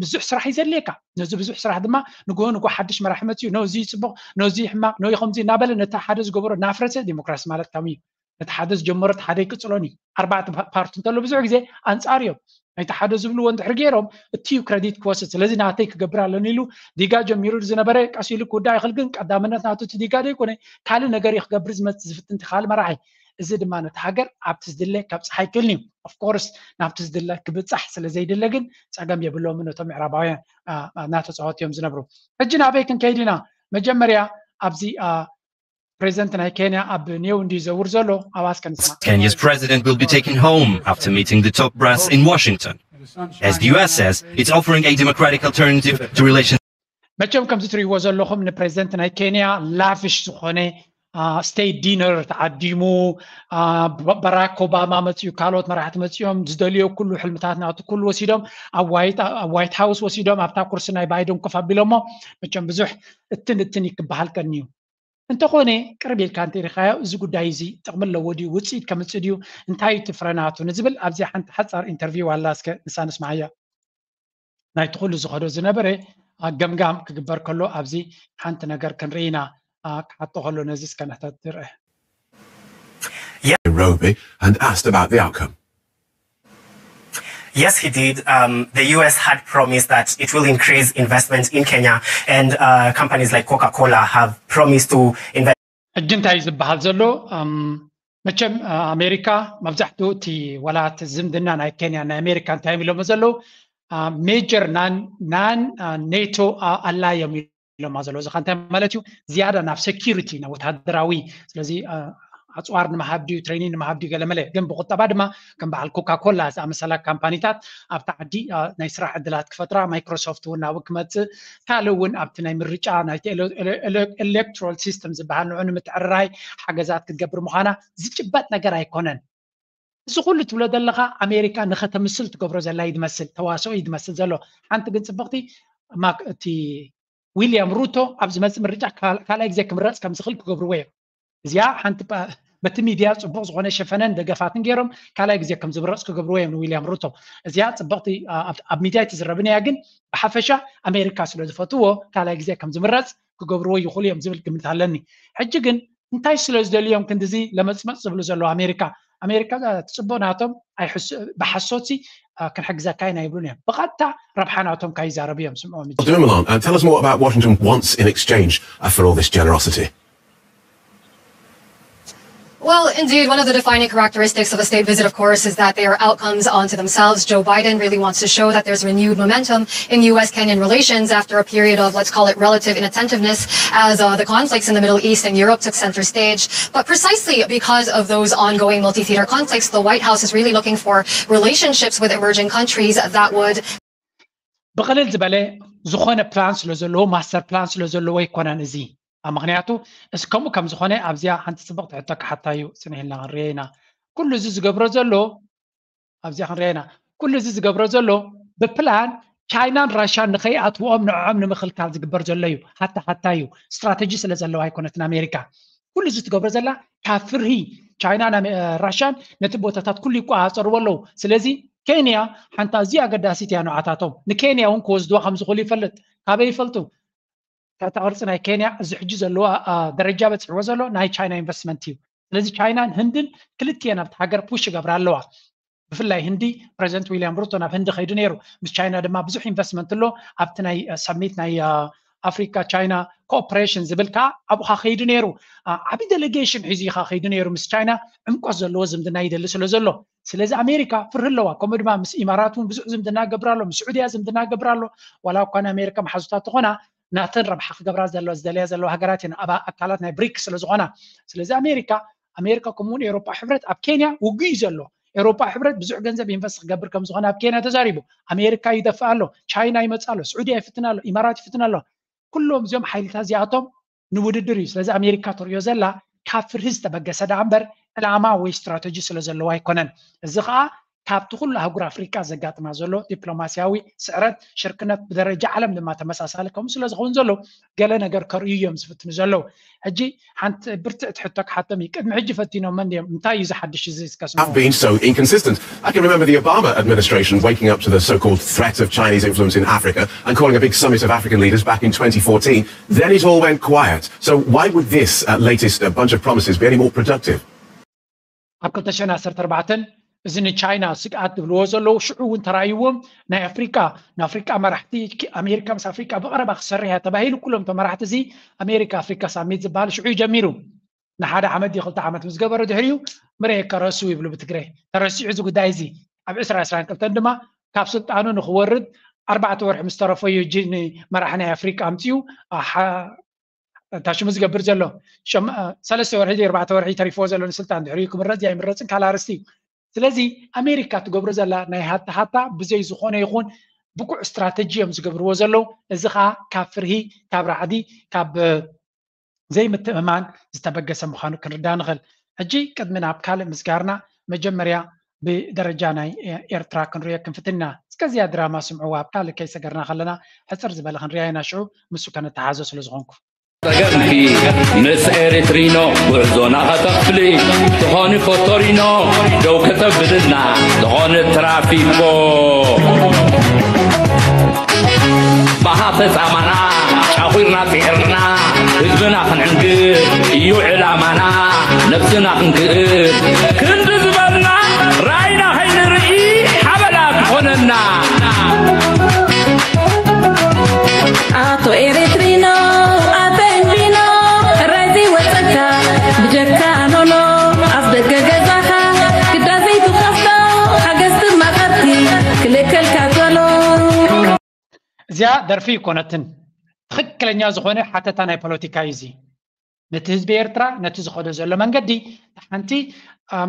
ብዙሕ ስራሕ እዩ ዘድልየካ። ነዚ ብዙሕ ስራሕ ድማ ንግሆ ንግሆ ሓድሽ መራሒ መፅኡ ነዚ ፅቡቅ ነዚ ሕማቅ ነዚ ከምዚ እናበለ ነቲ ሓደ ዝገበሮ እናፍረሰ ዲሞክራሲ ማለት ካብ እዩ። ነቲ ሓደ ዝጀመሮ እቲ ሓደ ይቅፅሎን እዩ። ኣርባዕተ ፓርቲ እንተሎ ብዙሕ ግዜ ኣንፃር እዮም። ናይቲ ሓደ ዝብልዎ እንድሕር ገይሮም እቲ እዩ ክረዲት ክወስድ ስለዚ ናተይ ክገብር ኣለኒ ኢሉ ዲጋ ጀሚሩ ዝነበረ ቀስ ኢሉ ክውዳእ ይኽእል ግን ቀዳምነት ናቱ እቲ ዲጋ ዘይኮነ ካልእ ነገር እዩ ክገብር ዝመፅእ ዝፍትን እቲ ካልእ መራሒ። እዚ ድማ ነቲ ሃገር ኣብቲ ዝድለ ከብፅሕ ኣይክእልን እዩ። ኦፍኮርስ ናብቲ ዝድለ ክብፃሕ ስለ ዘይድለ ግን ፀገም የብሎምን ነቶም ምዕራባውያን እናተፃወቱ እዮም ዝነብሩ። ሕጂ ናበይ ክንከይድ ኢና? መጀመርያ ኣብዚ ፕሬዚደንት ናይ ኬንያ ኣብ ኔው እንዲ ዘውር ዘሎ ኣባስ ከንስማ። Kenya's president will be taken home after meeting the top brass in Washington, as the U S says it's offering a democratic alternative to relations. መቸም ከምዚ ትርእይዎ ዘለኹም ንፕሬዚደንት ናይ ኬንያ ላፍሽ ዝኾነ ስቴት ዲነር ተዓዲሙ። በራክ ኦባማ መፅኡ፣ ካልኦት መራሕቲ መፅኦም ዝደልዮ ኩሉ ሕልምታት ናቱ ኩሉ ወሲዶም ኣብ ዋይት ሃውስ ወሲዶም ኣብታ ኩርሲ ናይ ባይደን ኮፍ ኣቢሎሞ። መቸም ብዙሕ እትን እትን ይክበሃል ቀንዩ። እንተኾነ ቅርብ ኢልካ እንተሪኻዮ እዚ ጉዳይ እዚ ጥቕሚ ኣለዎ ድዩ ውፅኢት ከምፅእ ድዩ እንታይ እዩ እቲ ፍረናቱ ንዝብል ኣብዚ ሓንቲ ሓፃር ኢንተርቪው ኣላ እስከ ንሳ ንስማዓያ። ናይቲ ኩሉ ዝኸዶ ዝነበረ ገምጋም ክግበር ከሎ ኣብዚ ሓንቲ ነገር ክንርኢ ኢና። ክሓቶ ከሎ ነዚ እስከ ንሕተት ትርአ። Nairobi and asked about the outcome. Yes, he did. Um, the U S had promised that it will increase investment in Kenya, and uh, companies like Coca Cola have promised to invest. ሕጂ እንታይ ዝበሃል ዘሎ መቸም ኣሜሪካ መብዛሕትኡ እቲ ወላ እቲ ዝምድና ናይ ኬንያ ናይ ኣሜሪካ እንታይ እዮም ኢሎሞ ዘለዉ ሜጀር ናን ኔቶ ኣላዮም ኢሎማ ዘለዉ። እዚ ከ እንታይ ማለት እዩ? ዝያዳ ናብ ሴኪሪቲ፣ ናብ ወታደራዊ፣ ስለዚ ኣፅዋር ንምሃብ ድዩ፣ ትሬኒንግ ንምሃብ ድዩ፣ ገለመለ። ግን ብቁጠባ ድማ ከም በዓል ኮካ ኮላ ዝኣመሰላ ካምፓኒታት ኣብቲ ዓዲ ናይ ስራሕ ዕድላት ክፈጥራ፣ ማይክሮሶፍት እውን ናብኡ ክመፅእ፣ ካልእ እውን ኣብቲ ናይ ምርጫ ናይቲ ኤሌክትሮል ሲስተም ዝበሃል ንዑ ንምትዕርራይ ሓገዛት ክትገብር ምዃና ዝጭበጥ ነገር ኣይኮነን። እዚ ኩሉ ትብሎ ዘለኻ ኣሜሪካ ንኸተምስል ትገብሮ ዘላ እዩ ዝመስል፣ ተዋስኦ እዩ ዝመስል ዘሎ። ሓንቲ ግን ፅብቕቲ፣ እቲ ዊልያም ሩቶ ኣብ ዝመፅእ ምርጫ ካልኣይ ግዜ ክምረፅ ከም ዝኽእል ክገብርዎ እዮም። እዚኣ ሓንቲ በቲ ሚድያ ፅቡቕ ዝኾነ ሸፈነን ደገፋትን ገይሮም ካልኣይ ግዜ ከም ዝምረፅ ክገብርዎ እዮም ንዊልያም ሩቶ። እዚኣ ፅብቕቲ ኣብ ሚድያ ኣይትዝረብን እያ፣ ግን ብሓፈሻ ኣሜሪካ ስለ ዝፈትዎ ካልኣይ ግዜ ከም ዝምረፅ ክገብርዎ ይኽእሉ እዮም ዝብል ግምት ኣለኒ። ሕጂ ግን እንታይ ስለ ዝደልዮም ክንድዚ ለመፅመፅ ዝብሉ ዘለዉ ኣሜሪካ? ኣሜሪካ ትፅቦ ናቶም ብሓሶት ክንሕግዘካ ኢና ይብሉን እዮም። ብቐጥታ ረብሓ ናቶም ካይዛረቡ እዮም ስምዖም። Dumoulin, uh, tell us more about what Washington wants in exchange uh, for all this generosity. Well, indeed, one of the defining characteristics of a state visit, of course, is that they are outcomes unto themselves. Joe Biden really wants to show that there's renewed momentum in U S Kenyan relations after a period of, let's call it, relative inattentiveness as uh, the conflicts in the Middle East and Europe took center stage. But precisely because of those ongoing multi theater conflicts, the White House is really looking for relationships with emerging countries that would ብቕልል ዝበለ ዝኾነ ፕላን ስለ ዘለዎ፣ ማስተር ፕላን ስለ ዘለዎ ኣይኮነን እዚ። ምክንያቱ እስ ከምኡ ከም ዝኾነ ኣብዚኣ ሓንቲ ፅብቕቲ ሕቶ ክሓታ እዩ ፅንሕ ኢልና ክንሪኦ ኢና። ኩሉ እዚ ዝገብሮ ዘሎ ኣብዚኣ ክንሪኦ ኢና። ኩሉ እዚ ዝገብሮ ዘሎ ብፕላን ቻይናን ራሻን ንኸይኣትዎም ንዕዖም ንምኽልካል ዝግበር ዘሎ እዩ። ሃታ ሃታ እዩ። ስትራተጂ ስለ ዘለዋ ኣይኮነትን ኣሜሪካ። ኩሉ እዚ ትገብሮ ዘላ ካብ ፍርሂ ቻይናን ራሻን ነቲ ቦታታት ኩሉ ይቆፃፀርዎ ኣለዉ። ስለዚ ኬንያ ሓንቲ ኣዝያ ኣገዳሲት እያ ንዓታቶም። ንኬንያ እውን ክወስድዋ ከም ዝኽእሉ ይፈልጥ። ካበይ ይፈልጡ? ትሕተ ቅርፂ ናይ ኬንያ እዚ ሕጂ ዘለዎ ደረጃ በፂሕዎ ዘሎ ናይ ቻይና ኢንቨስትመንት እዩ። ስለዚ ቻይናን ህንድን ክልቲኤን ኣብቲ ሃገር ፑሽ ይገብራ ኣለዋ። ብፍላይ ህንዲ ፕሬዚደንት ዊልያም ሩቶ ናብ ህንዲ ከይዱ ነይሩ። ምስ ቻይና ድማ ብዙሕ ኢንቨስትመንት ኣሎ። ኣብቲ ናይ ሰሚት ናይ ኣፍሪካ ቻይና ኮኦፕሬሽን ዝብል ከዓ ኣብኡ ከይዱ ነይሩ። ዓብዪ ዴሌጌሽን ሒዙ ኢኻ ከይዱ ነይሩ። ምስ ቻይና ዕምቆት ዘለዎ ዝምድና ይደሊ ስለ ዘሎ። ስለዚ ኣሜሪካ ፍርሂ ኣለዋ። ከምኡ ድማ ምስ ኢማራት እውን ብዙሕ ዝምድና ገብር ኣሎ፣ ምስ ስዑድያ ዝምድና ገብር ኣሎ። ዋላ እኳ ንኣሜሪካ መሓዙታት ተኾና ናተን ረብሓ ክገብራ ዘለዎ ዝደለያ ዘለዋ ሃገራት እየን ኣብ ኣካላት ናይ ብሪክ ስለ ዝኾና። ስለዚ ኣሜሪካ ኣሜሪካ ከምኡውን ኤውሮጳ ሕብረት ኣብ ኬንያ ውግእ እዩ ዘሎ። ኤውሮጳ ሕብረት ብዙሕ ገንዘብ ኢንቨስት ክገብር ከም ዝኾነ ኣብ ኬንያ ተዛሪቡ። ኣሜሪካ ይደፍእ ኣሎ፣ ቻይና ይመጽእ ኣሎ፣ ስዑድያ ይፍትን ኣሎ፣ ኢማራት ይፍትን ኣሎ። ኩሎም እዚኦም ሓይልታት እዚኣቶም ንውድድር እዩ። ስለዚ ኣሜሪካ ትሪኦ ዘላ ካብ ፍርሂ ዝተበገሰ ደኣ እምበር ዕላማ ወይ ስትራተጂ ስለ ዘለዎ ኣይኮነን። እዚ ከዓ ካብቲ ኩሉ ኣህጉር ኣፍሪቃ ዘጋጥማ ዘሎ ዲፕሎማስያዊ ስዕረት ሽርክነት ብደረጃ ዓለም ድማ ተመሳሳሊ ከምኡ ስለ ዝኸውን ዘሎ ገለ ነገር ከርእዩ እዮም ዝፍትኑ ዘለዉ። ሕጂ ሓንቲ ብርትዕቲ ሕቶ ክሓቶም እዩ። ቅድሚ ሕጂ ፈቲኖመን ድዮም? እንታይ እዩ ዝሓድሽ እዚ እስከ ስምዑ። have been so inconsistent. I can remember the Obama administration waking up to the so-called threat of Chinese influence in Africa and calling a big summit of African leaders back in twenty fourteen. Then it all went quiet. So why would this uh, latest uh, bunch of promises be any more productive? ኣብ ክልተ ሽሕን ዓሰርተ ኣርባዕተን እዚ ንቻይና ስግኣት ዝብልዎ ዘለዉ ሽዑ እውን ተራእይዎም ናይ ኣፍሪቃ ንኣፍሪቃ መራሕቲ ኣሜሪካ ምስ ኣፍሪቃ ብቐረባ ክሰርሕ እያ ተባሂሉ ኩሎም እቶም መራሕቲ እዚ ኣሜሪካ ኣፍሪካ ሳሚት ዝበሃል ሽዑ እዩ ጀሚሩ። ንሓደ ዓመት ድዩ ክልተ ዓመት ምስ ገበረ ድሕሪኡ ምርኤ ከረሱ ይብሉ ብትግረ። ተረሲዑ እዚ ጉዳይ እዚ ኣብ ዕስራ ዕስራን ክልተን ድማ ካብ ስልጣኑ ንክወርድ ኣርባዕተ ወርሒ ምስ ተረፎ እዩ እጂ ንመራሒ ናይ ኣፍሪቃ ኣምፅኡ እታ ሽሙ ዝገብር ዘሎ። ሰለስተ ወርሒ ድዩ ኣርባዕተ ወርሒ ተሪፍዎ ዘሎ ንስልጣን ድሕሪኡ ክምረፅ ኣይምረፅን ካልእ ኣርእስቲ እዩ። ስለዚ ኣሜሪካ ትገብሮ ዘላ ናይ ሃታ ሃታ ብዘይ ዝኾነ ይኹን ብቁዕ ስትራተጂ እዮም ዝገብርዎ ዘለዉ። እዚ ከዓ ካብ ፍርሂ ካብ ራዕዲ ካብ ዘይምትእምማን ዝተበገሰ ምዃኑ ክንርዳእ ንኽእል። ሕጂ ቅድሚ ናብ ካልእ ምስጋርና መጀመርያ ብደረጃ ናይ ኤርትራ ክንሪኦ ክንፍትን ኢና። እስከዚኣ ድራማ ስምዕዋ ኣብ ካልእ ከይሰገርና ከለና ሕፅር ዝበለ ክንሪኣ ኢና ሽዑ ምስ ከነተሓዞ ስለ ዝኾንኩ። ጸገምኪ ምስ ኤሪትሪኖ ጉዕዞና ከተኽፍሊ ዝኾኒ ፎቶሪኖ ደው ከተብልና ዝኾኒ ትራፊኮ ባሃተ ጻማና ጫኺርና ጺዕርና ህዝብና ክንዕንግል እዩ ዕላማና ነብስና ክንክእል ክንዲ ዝበልና ራእይና ከይንርኢ ሓበላ ክኾነና። ኣቶ ኤሪትሪኖ ኣበንዲኖ ሕራይ ዘይወፀካ ብጀካ ኖኖ ኣፍ ደገ ገዛኻ ግዳ ዘይትኸፍቶ ሓገዝቲ ማቐርቲ ክልከልካ ከሎ። እዚኣ ደርፊ ይኮነትን። ትኽክለኛ ዝኾነ ሓተታ ናይ ፖለቲካ እዩ እዚ። ነቲ ህዝቢ ኤርትራ ነቲ ዝኸዶ ዘሎ መንገዲ፣ እቲ ሓንቲ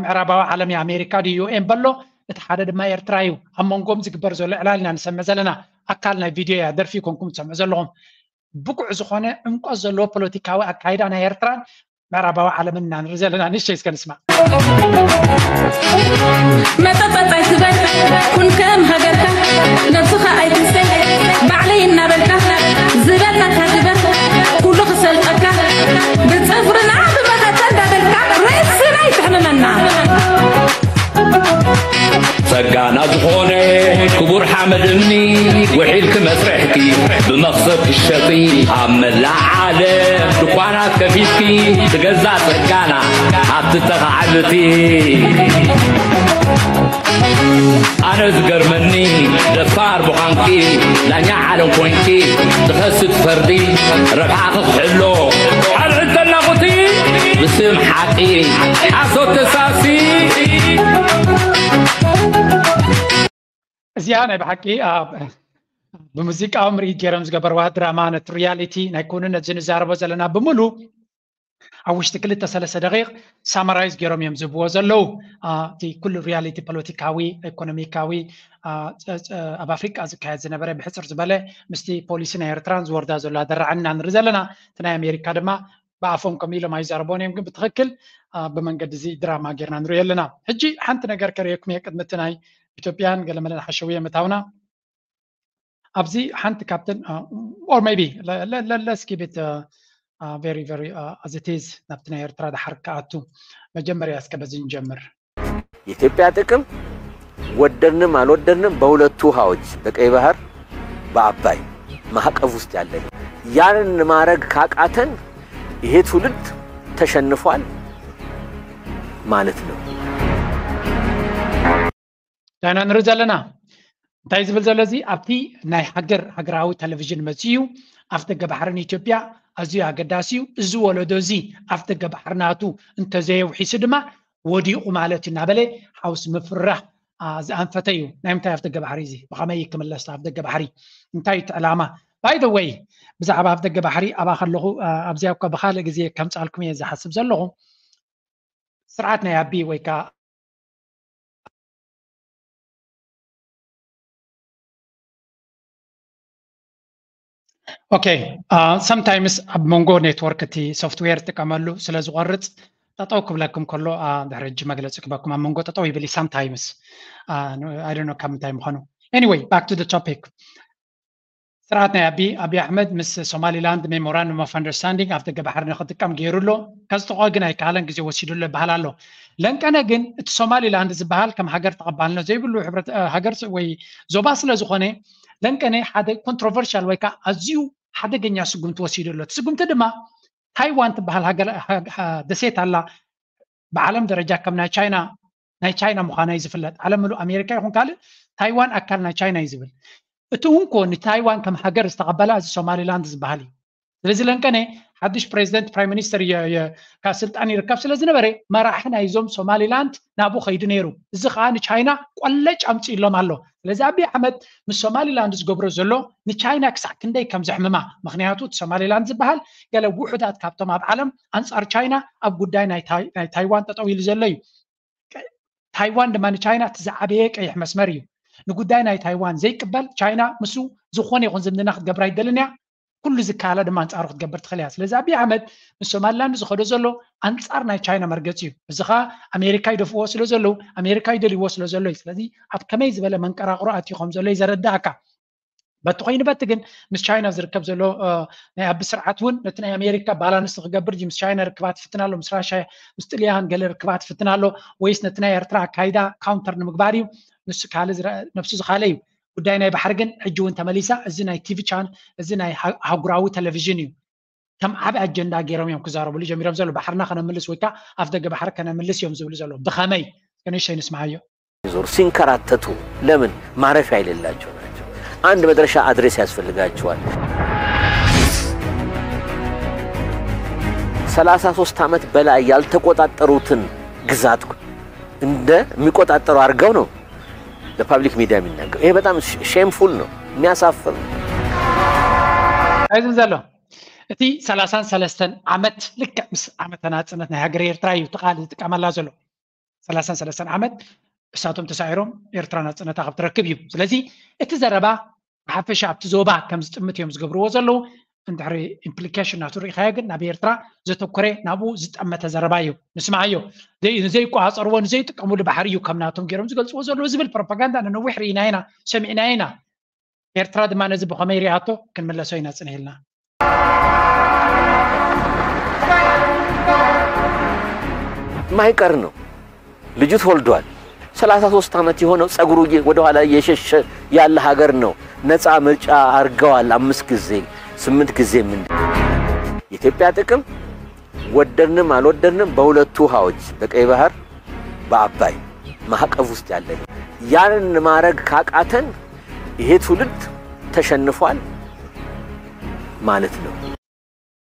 ምዕራባዊ ዓለም፣ ኣሜሪካ ድዩ ዩኤን በሎ፣ እቲ ሓደ ድማ ኤርትራ እዩ። ኣብ መንጎም ዝግበር ዘሎ ዕላል ኢና ንሰምዕ ዘለና። ኣካል ናይ ቪድዮ እያ፣ ደርፊ ይኮንኩም ትሰምዑ ዘለኹም። ብቁዕ ዝኾነ ዕምቆት ዘለዎ ፖለቲካዊ ኣካይዳ ናይ ኤርትራን ምዕራባዊ ዓለምን ኢና ንርኢ ዘለና። ንእሽተይ እስከ ንስማዕ። መጠጠጥ ኣይትበል፣ ኩን ከም ሃገርካ፣ ነብስኻ ኣይትንሰይ፣ ባዕለይ እናበልካ፣ ዝበልናካ ግበር፣ ኩሉ ክሰልጠካ፣ ብጽፍርና ብመኸተ እንዳበልካ፣ ርእስና ኣይትሕምመና። ጸጋና ዝኾነ ክቡር ሓመድ እምኒ፣ ውሒልኪ መስርሕኪ ብመኽሰብ ትሸጢ፣ ኣብ መላእ ዓለም ድኳናት ከፊትኪ፣ ትገዛእ ጸጋና ሃብቲ ተኻዕብቲ። ኣነ ዝገርመኒ ደፋር ምዃንኪ፣ ዳኛ ዓለም ኮይንኪ ትኸሲ ትፈርዲ፣ ረብሓኺ ክሕሎ ኣልዕል ተናቑቲ፣ ብስም ሓቂ ሓሶት ተሳሲ። እዚኣ ናይ ብሓቂ ኣብ ብሙዚቃዊ ምርኢት ገይሮም ዝገበርዋ ድራማ፣ ነቲ ሪያሊቲ ናይ ኩኑ ነዚ ንዛረቦ ዘለና ብምሉ ኣብ ውሽጢ ክልተ ሰለስተ ደቂቕ ሳማራይዝ ገይሮም እዮም ዝህብዎ ዘለዉ። አ፣ እቲ ኩሉ ሪያሊቲ ፖለቲካዊ፣ ኢኮኖሚካዊ፣ አ፣ ጸ-፣ ጸ-፣ ኣብ ኣፍሪቃ ዝካየድ ዝነበረ ብሕጽር ዝበለ ምስቲ ፖሊሲ ናይ ኤርትራን ዝወርዳ ዘሎ ኣደራዕን ኢና ንርኢ ዘለና። እቲ ናይ ኣሜሪካ ድማ ብኣፎም ከምኡ ኢሎም ኣይዛረቦን እዮም፣ ግን ብትኽክል፣ አ፣ ብመንገዲ እዚ ድራማ ጌርና ንሪኦ ኣለና። ሕጂ ሓንቲ ነገር ከርእየኩም እየ ቅድሚ እቲ ናይ ኢትዮጵያን ገለመለን ሓሸውየ ምእታውና። ኣብዚ ሓንቲ ካብተን፣ አ፣ or maybe le-, le-, le-, let's keep it, uh, uh, very, very, uh, as it is ናብቲ ናይ ኤርትራ ድሓር ክኣቱ። መጀመርያ እስከ በዚ ንጀምር። የኢትዮጵያ ጥቅም ወደድንም አልወደድንም በሁለቱ ውሃዎች በቀይ ባህር በአባይ ማዕቀፍ ውስጥ ያለ ነው። ያንን ማድረግ ካቃተን ይሄ ትውልድ ተሸንፏል ማለት ነው። ዳይና ንርኢ ዘለና እንታይ ዝብል ዘሎ እዚ ኣብቲ ናይ ሃገር ሃገራዊ ቴሌቪዥን መፅኡ እዩ። ኣፍ ደገ ባሕርን ኢትዮጵያ ኣዝዩ ኣገዳሲ እዩ። እዚ ወለዶ እዚ ኣፍ ደገ ባሕሪ ናቱ እንተዘየውሒሱ ድማ ወዲቑ ማለት እዩ እናበለ ሓውስ ምፍርራሕ፣ አ፣ ዝኣንፈተ እዩ። ናይ ምንታይ ኣፍ ደገ ባሕሪ እዚ? ብኸመይ ክምለስ ኣፍ ደገ ባሕሪ? እንታይ እቲ ዕላማ? By the way፣ ብዛዕባ ኣፍ ደገ ባሕሪ ኣብኣ ከለኹ፣ አ፣ ኣብዚኣ እኳ ብኻልእ ግዜ ከምጻልኩም እየ ዝሓስብ ዘለኹ። ስርዓት ናይ ኣቢ ወይ ከዓ ኦኬ፣ አ፣ sometimes ኣብ መንጎ ኔትወርክ እቲ ሶፍትዌር ጥቀመሉ ስለ ዝቆርጽ ጠጠው ክብለኩም ከሎ፣ አ፣ ድሕሪ ሕጂ መግለጺ ክበኩም ኣብ መንጎ ጠጠው ይብል እዩ sometimes። አ፣ I don't know ካብ ምንታይ ምዃኑ። Anyway, back to the topic። ስርዓት ናይ ኣቢ፣ ኣቢ ኣሕመድ ምስ ሶማሊላንድ ሜሞራንደም ኦፍ ኣንደርስታንዲንግ ኣፍ ደገ ባሕሪ ንክጥቀም ገይሩ ኣሎ። ከጽድቖ ግን ኣይከኣለን፣ ግዜ ወሲዱሉ ይበሃል ኣሎ። ለንቀነ ግን እቲ ሶማሊላንድ ዝበሃል ከም ሃገር ተቐባልነት ዘይብሉ ሕብረት፣ እ፣ ሃገር ስ-፣ ወይ ዞባ ስለ ዝኾነ ለንቀነ ሓደ ኮንትሮቨርሻል ወይ ከዓ ኣዝዩ ሓደገኛ ስጉምቲ ወሲዱ ኣሎ። እቲ ስጉምቲ ድማ ታይዋን ትበሃል ሃገር፣ ሃ-፣ ሃ-፣ ደሴት ኣላ። ብዓለም ደረጃ ከም ናይ ቻይና፣ ናይ ቻይና ምዃና እዩ ዝፍለጥ። ዓለም ምሉእ ኣሜሪካ ይኹን ካልእ ታይዋን ኣካል ናይ ቻይና እዩ ዝብል። እቲ እውን ኮ ንታይዋን ከም ሃገር ዝተቐበላ እዚ ሶማሊላንድ ዝበሃል እዩ። ስለዚ ለንቀነ ሓድሽ ፕሬዚደንት ፕራይም ሚኒስተር የ-፣ የ-፣ ካብ ስልጣን ይርከብ ስለ ዝነበረ መራሒ ናይዞም ሶማሊላንድ ናብኡ ከይዱ ነይሩ። እዚ ከዓ ንቻይና ቆለጭ ኣምፅእሎም ኣሎ። ስለዚ ኣቢ ኣሕመድ ምስ ሶማሊላንድ ዝገብሮ ዘሎ ንቻይና ክሳዕ ክንደይ ከም ዘሕምማ፣ ምኽንያቱ እቲ ሶማሊላንድ ዝበሃል ገለ ውሑዳት ካብቶም ኣብ ዓለም ኣንጻር ቻይና ኣብ ጉዳይ ናይ ታይ-፣ ናይ ታይዋን ጠጠው ኢሉ ዘሎ እዩ። ታይዋን ድማ ንቻይና እቲ ዝዓበየ ቀይሕ መስመር እዩ። ንጉዳይ ናይ ታይዋን ዘይቅበል ቻይና ምስኡ ዝኾነ ይኹን ዝምድና ክትገብር ኣይደልን እያ። ኩሉ ዝከኣላ ድማ ኣንጻሩ ክትገብር ትኽእል እያ። ስለዚ ኣቢ ኣሕመድ ምስ ሶማሊላንድ ዝኸዶ ዘሎ ኣንጻር ናይ ቻይና መርገጺ እዩ። እዚ ኸኣ ኣሜሪካ ይደፍእዎ ስለ ዘለዉ፣ ኣሜሪካ ይደልይዎ ስለ ዘሎ እዩ። ስለዚ ኣብ ከመይ ዝበለ መንቀራቕሮ ኣትዩ ከም ዘሎ እዩ ዘረዳእካ። በቲ ኮይኑ በቲ ግን ምስ ቻይና ዝርከብ ዘሎ፣ እ፣ ናይ ኣቢ ስርዓት እውን ነቲ ናይ ኣሜሪካ ባላንስ ክገብር እዩ። ምስ ቻይና ርክባት ይፍትን ኣሎ፣ ምስ ራሽያ፣ ምስ ጥልያን ገለ ርክባት ይፍትን ኣሎ፣ ወይስ ነቲ ናይ ኤርትራ ኣካይዳ ካውንተር ንምግባር እዩ? ንሱ ካልእ ዝረ-፣ ነብሱ ዝኻለ እዩ። ጉዳይ ናይ ባሕሪ ግን ሕጂ እውን ተመሊሳ፣ እዚ ናይ ቲቪ ቻን፣ እዚ ናይ ሃ-፣ ኣህጉራዊ ቴሌቪዥን እዩ። ከም ዓቢ ኣጀንዳ ገይሮም እዮም ክዛረብሉ ጀሚሮም ዘሎ። ባሕርና ከነምልስ ወይ ከዓ ኣፍ ደገ ባሕሪ ከነምልስ እዮም ዝብሉ ዘሎ። ብኸመይ? እስከ ንእሽተይ ንስምዓዮ። ዞር ሲንከራተቱ ለምን ማረፊያ የሌላቸው ናቸው። አንድ መድረሻ አድሬስ ያስፈልጋቸዋል። ሰላሳ ሶስት ዓመት በላይ ያልተቆጣጠሩትን ግዛት እንደሚቆጣጠሩ አድርገው ነው ለፓብሊክ ሚዲያ የሚናገሩ። ይሄ በጣም ሼምፉል ነው፣ የሚያሳፍር ነው። እንታይ ዝብል ዘሎ? እቲ ሰላሳን ሰለስተን ዓመት ልክዕ ምስ ዓመተ ናፅነት ናይ ሃገር ኤርትራ እዩ እቲ ቃል ዝጥቀመላ ዘሎ። ሰላሳን ሰለስተን ዓመት እሳቶም ተሳዒሮም ኤርትራ ናፅነታ ካብ ትረክብ እዩ። ስለዚ እቲ ዘረባ ብሓፈሻ ኣብቲ ዞባ ከም ዝጥምት እዮም ዝገብርዎ ዘለዉ። እንድሕሪ ኢምፕሊኬሽን ናቱ ርኢኻዮ ግን ናብ ኤርትራ ዘተኮረ ናብኡ ዝጠመተ ዘረባ እዩ። ንስምዓዮ። ዘይ- ንዘይቋፀርዎ ንዘይጥቀምሉ ባሕሪ እዩ ከም ናቶም ገይሮም ዝገልፅዎ ዘለዉ ዝብል ፕሮፓጋንዳ ንነዊሕ ርኢና ኢና፣ ሰሚዕና ኢና። ኤርትራ ድማ ነዚ ብኸመይ ሪኣቶ ክንምለሶ ኢና ጽንሕ ኢልና። ማይቀር ነው። ልጁ ተወልዷል። ሰላሳ ሶስት ዓመት የሆነው ጸጉሩ እየ- ወደኋላ እየሸሸ ያለ ሀገር ነው። ነፃ ምርጫ አርገዋል። አምስት ጊዜ ስምንት ጊዜ ምን የኢትዮጵያ ጥቅም ወደድንም አልወደድንም በሁለቱ ውሃዎች በቀይ ባህር በአባይ ማዕቀፍ ውስጥ ያለ ነው። ያንን ማድረግ ካቃተን ይሄ ትውልድ ተሸንፏል ማለት ነው።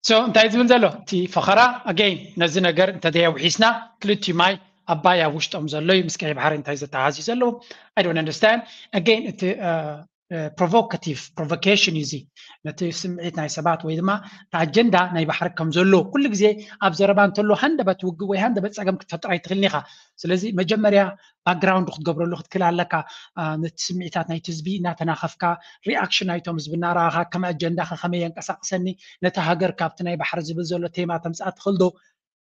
So እንታይ ዝብል ዘሎ እቲ ፈኸራ? Again ነዚ ነገር እንተዘየውሒስና ክልቲኡ ማይ ኣባይ ኣብ ውሽጦም ዘሎ እዩ ምስ ቀይ ባሕሪ እንታይ ዘተሓዝ እዩ ዘለዎም? I don't understand. Again እቲ provocative provocation እዩ እዚ። ነቲ ስምዒት ናይ ሰባት ወይ ድማ እቲ ኣጀንዳ ናይ ባሕሪ ከም ዘሎ ኩሉ ግዜ ኣብ ዘረባ እንተሎ ሃንደበት ውግእ ወይ ሃንደበት ፀገም ክትፈጥር ኣይትኽእልን ኢኻ። ስለዚ መጀመርያ ባክግራውንድ ክትገብረሉ ክትክእል ኣለካ። ነቲ ስምዒታት ናይቲ ህዝቢ እናተናኸፍካ ሪኣክሽን ናይቶም ህዝቢ እናረኣኻ ከም ኣጀንዳኻ ከመይ የንቀሳቕሰኒ ነቲ ሃገር ካብቲ ናይ ባሕሪ ዝብል ዘሎ ቴማ ተምፅኣ ትኽእል ዶ?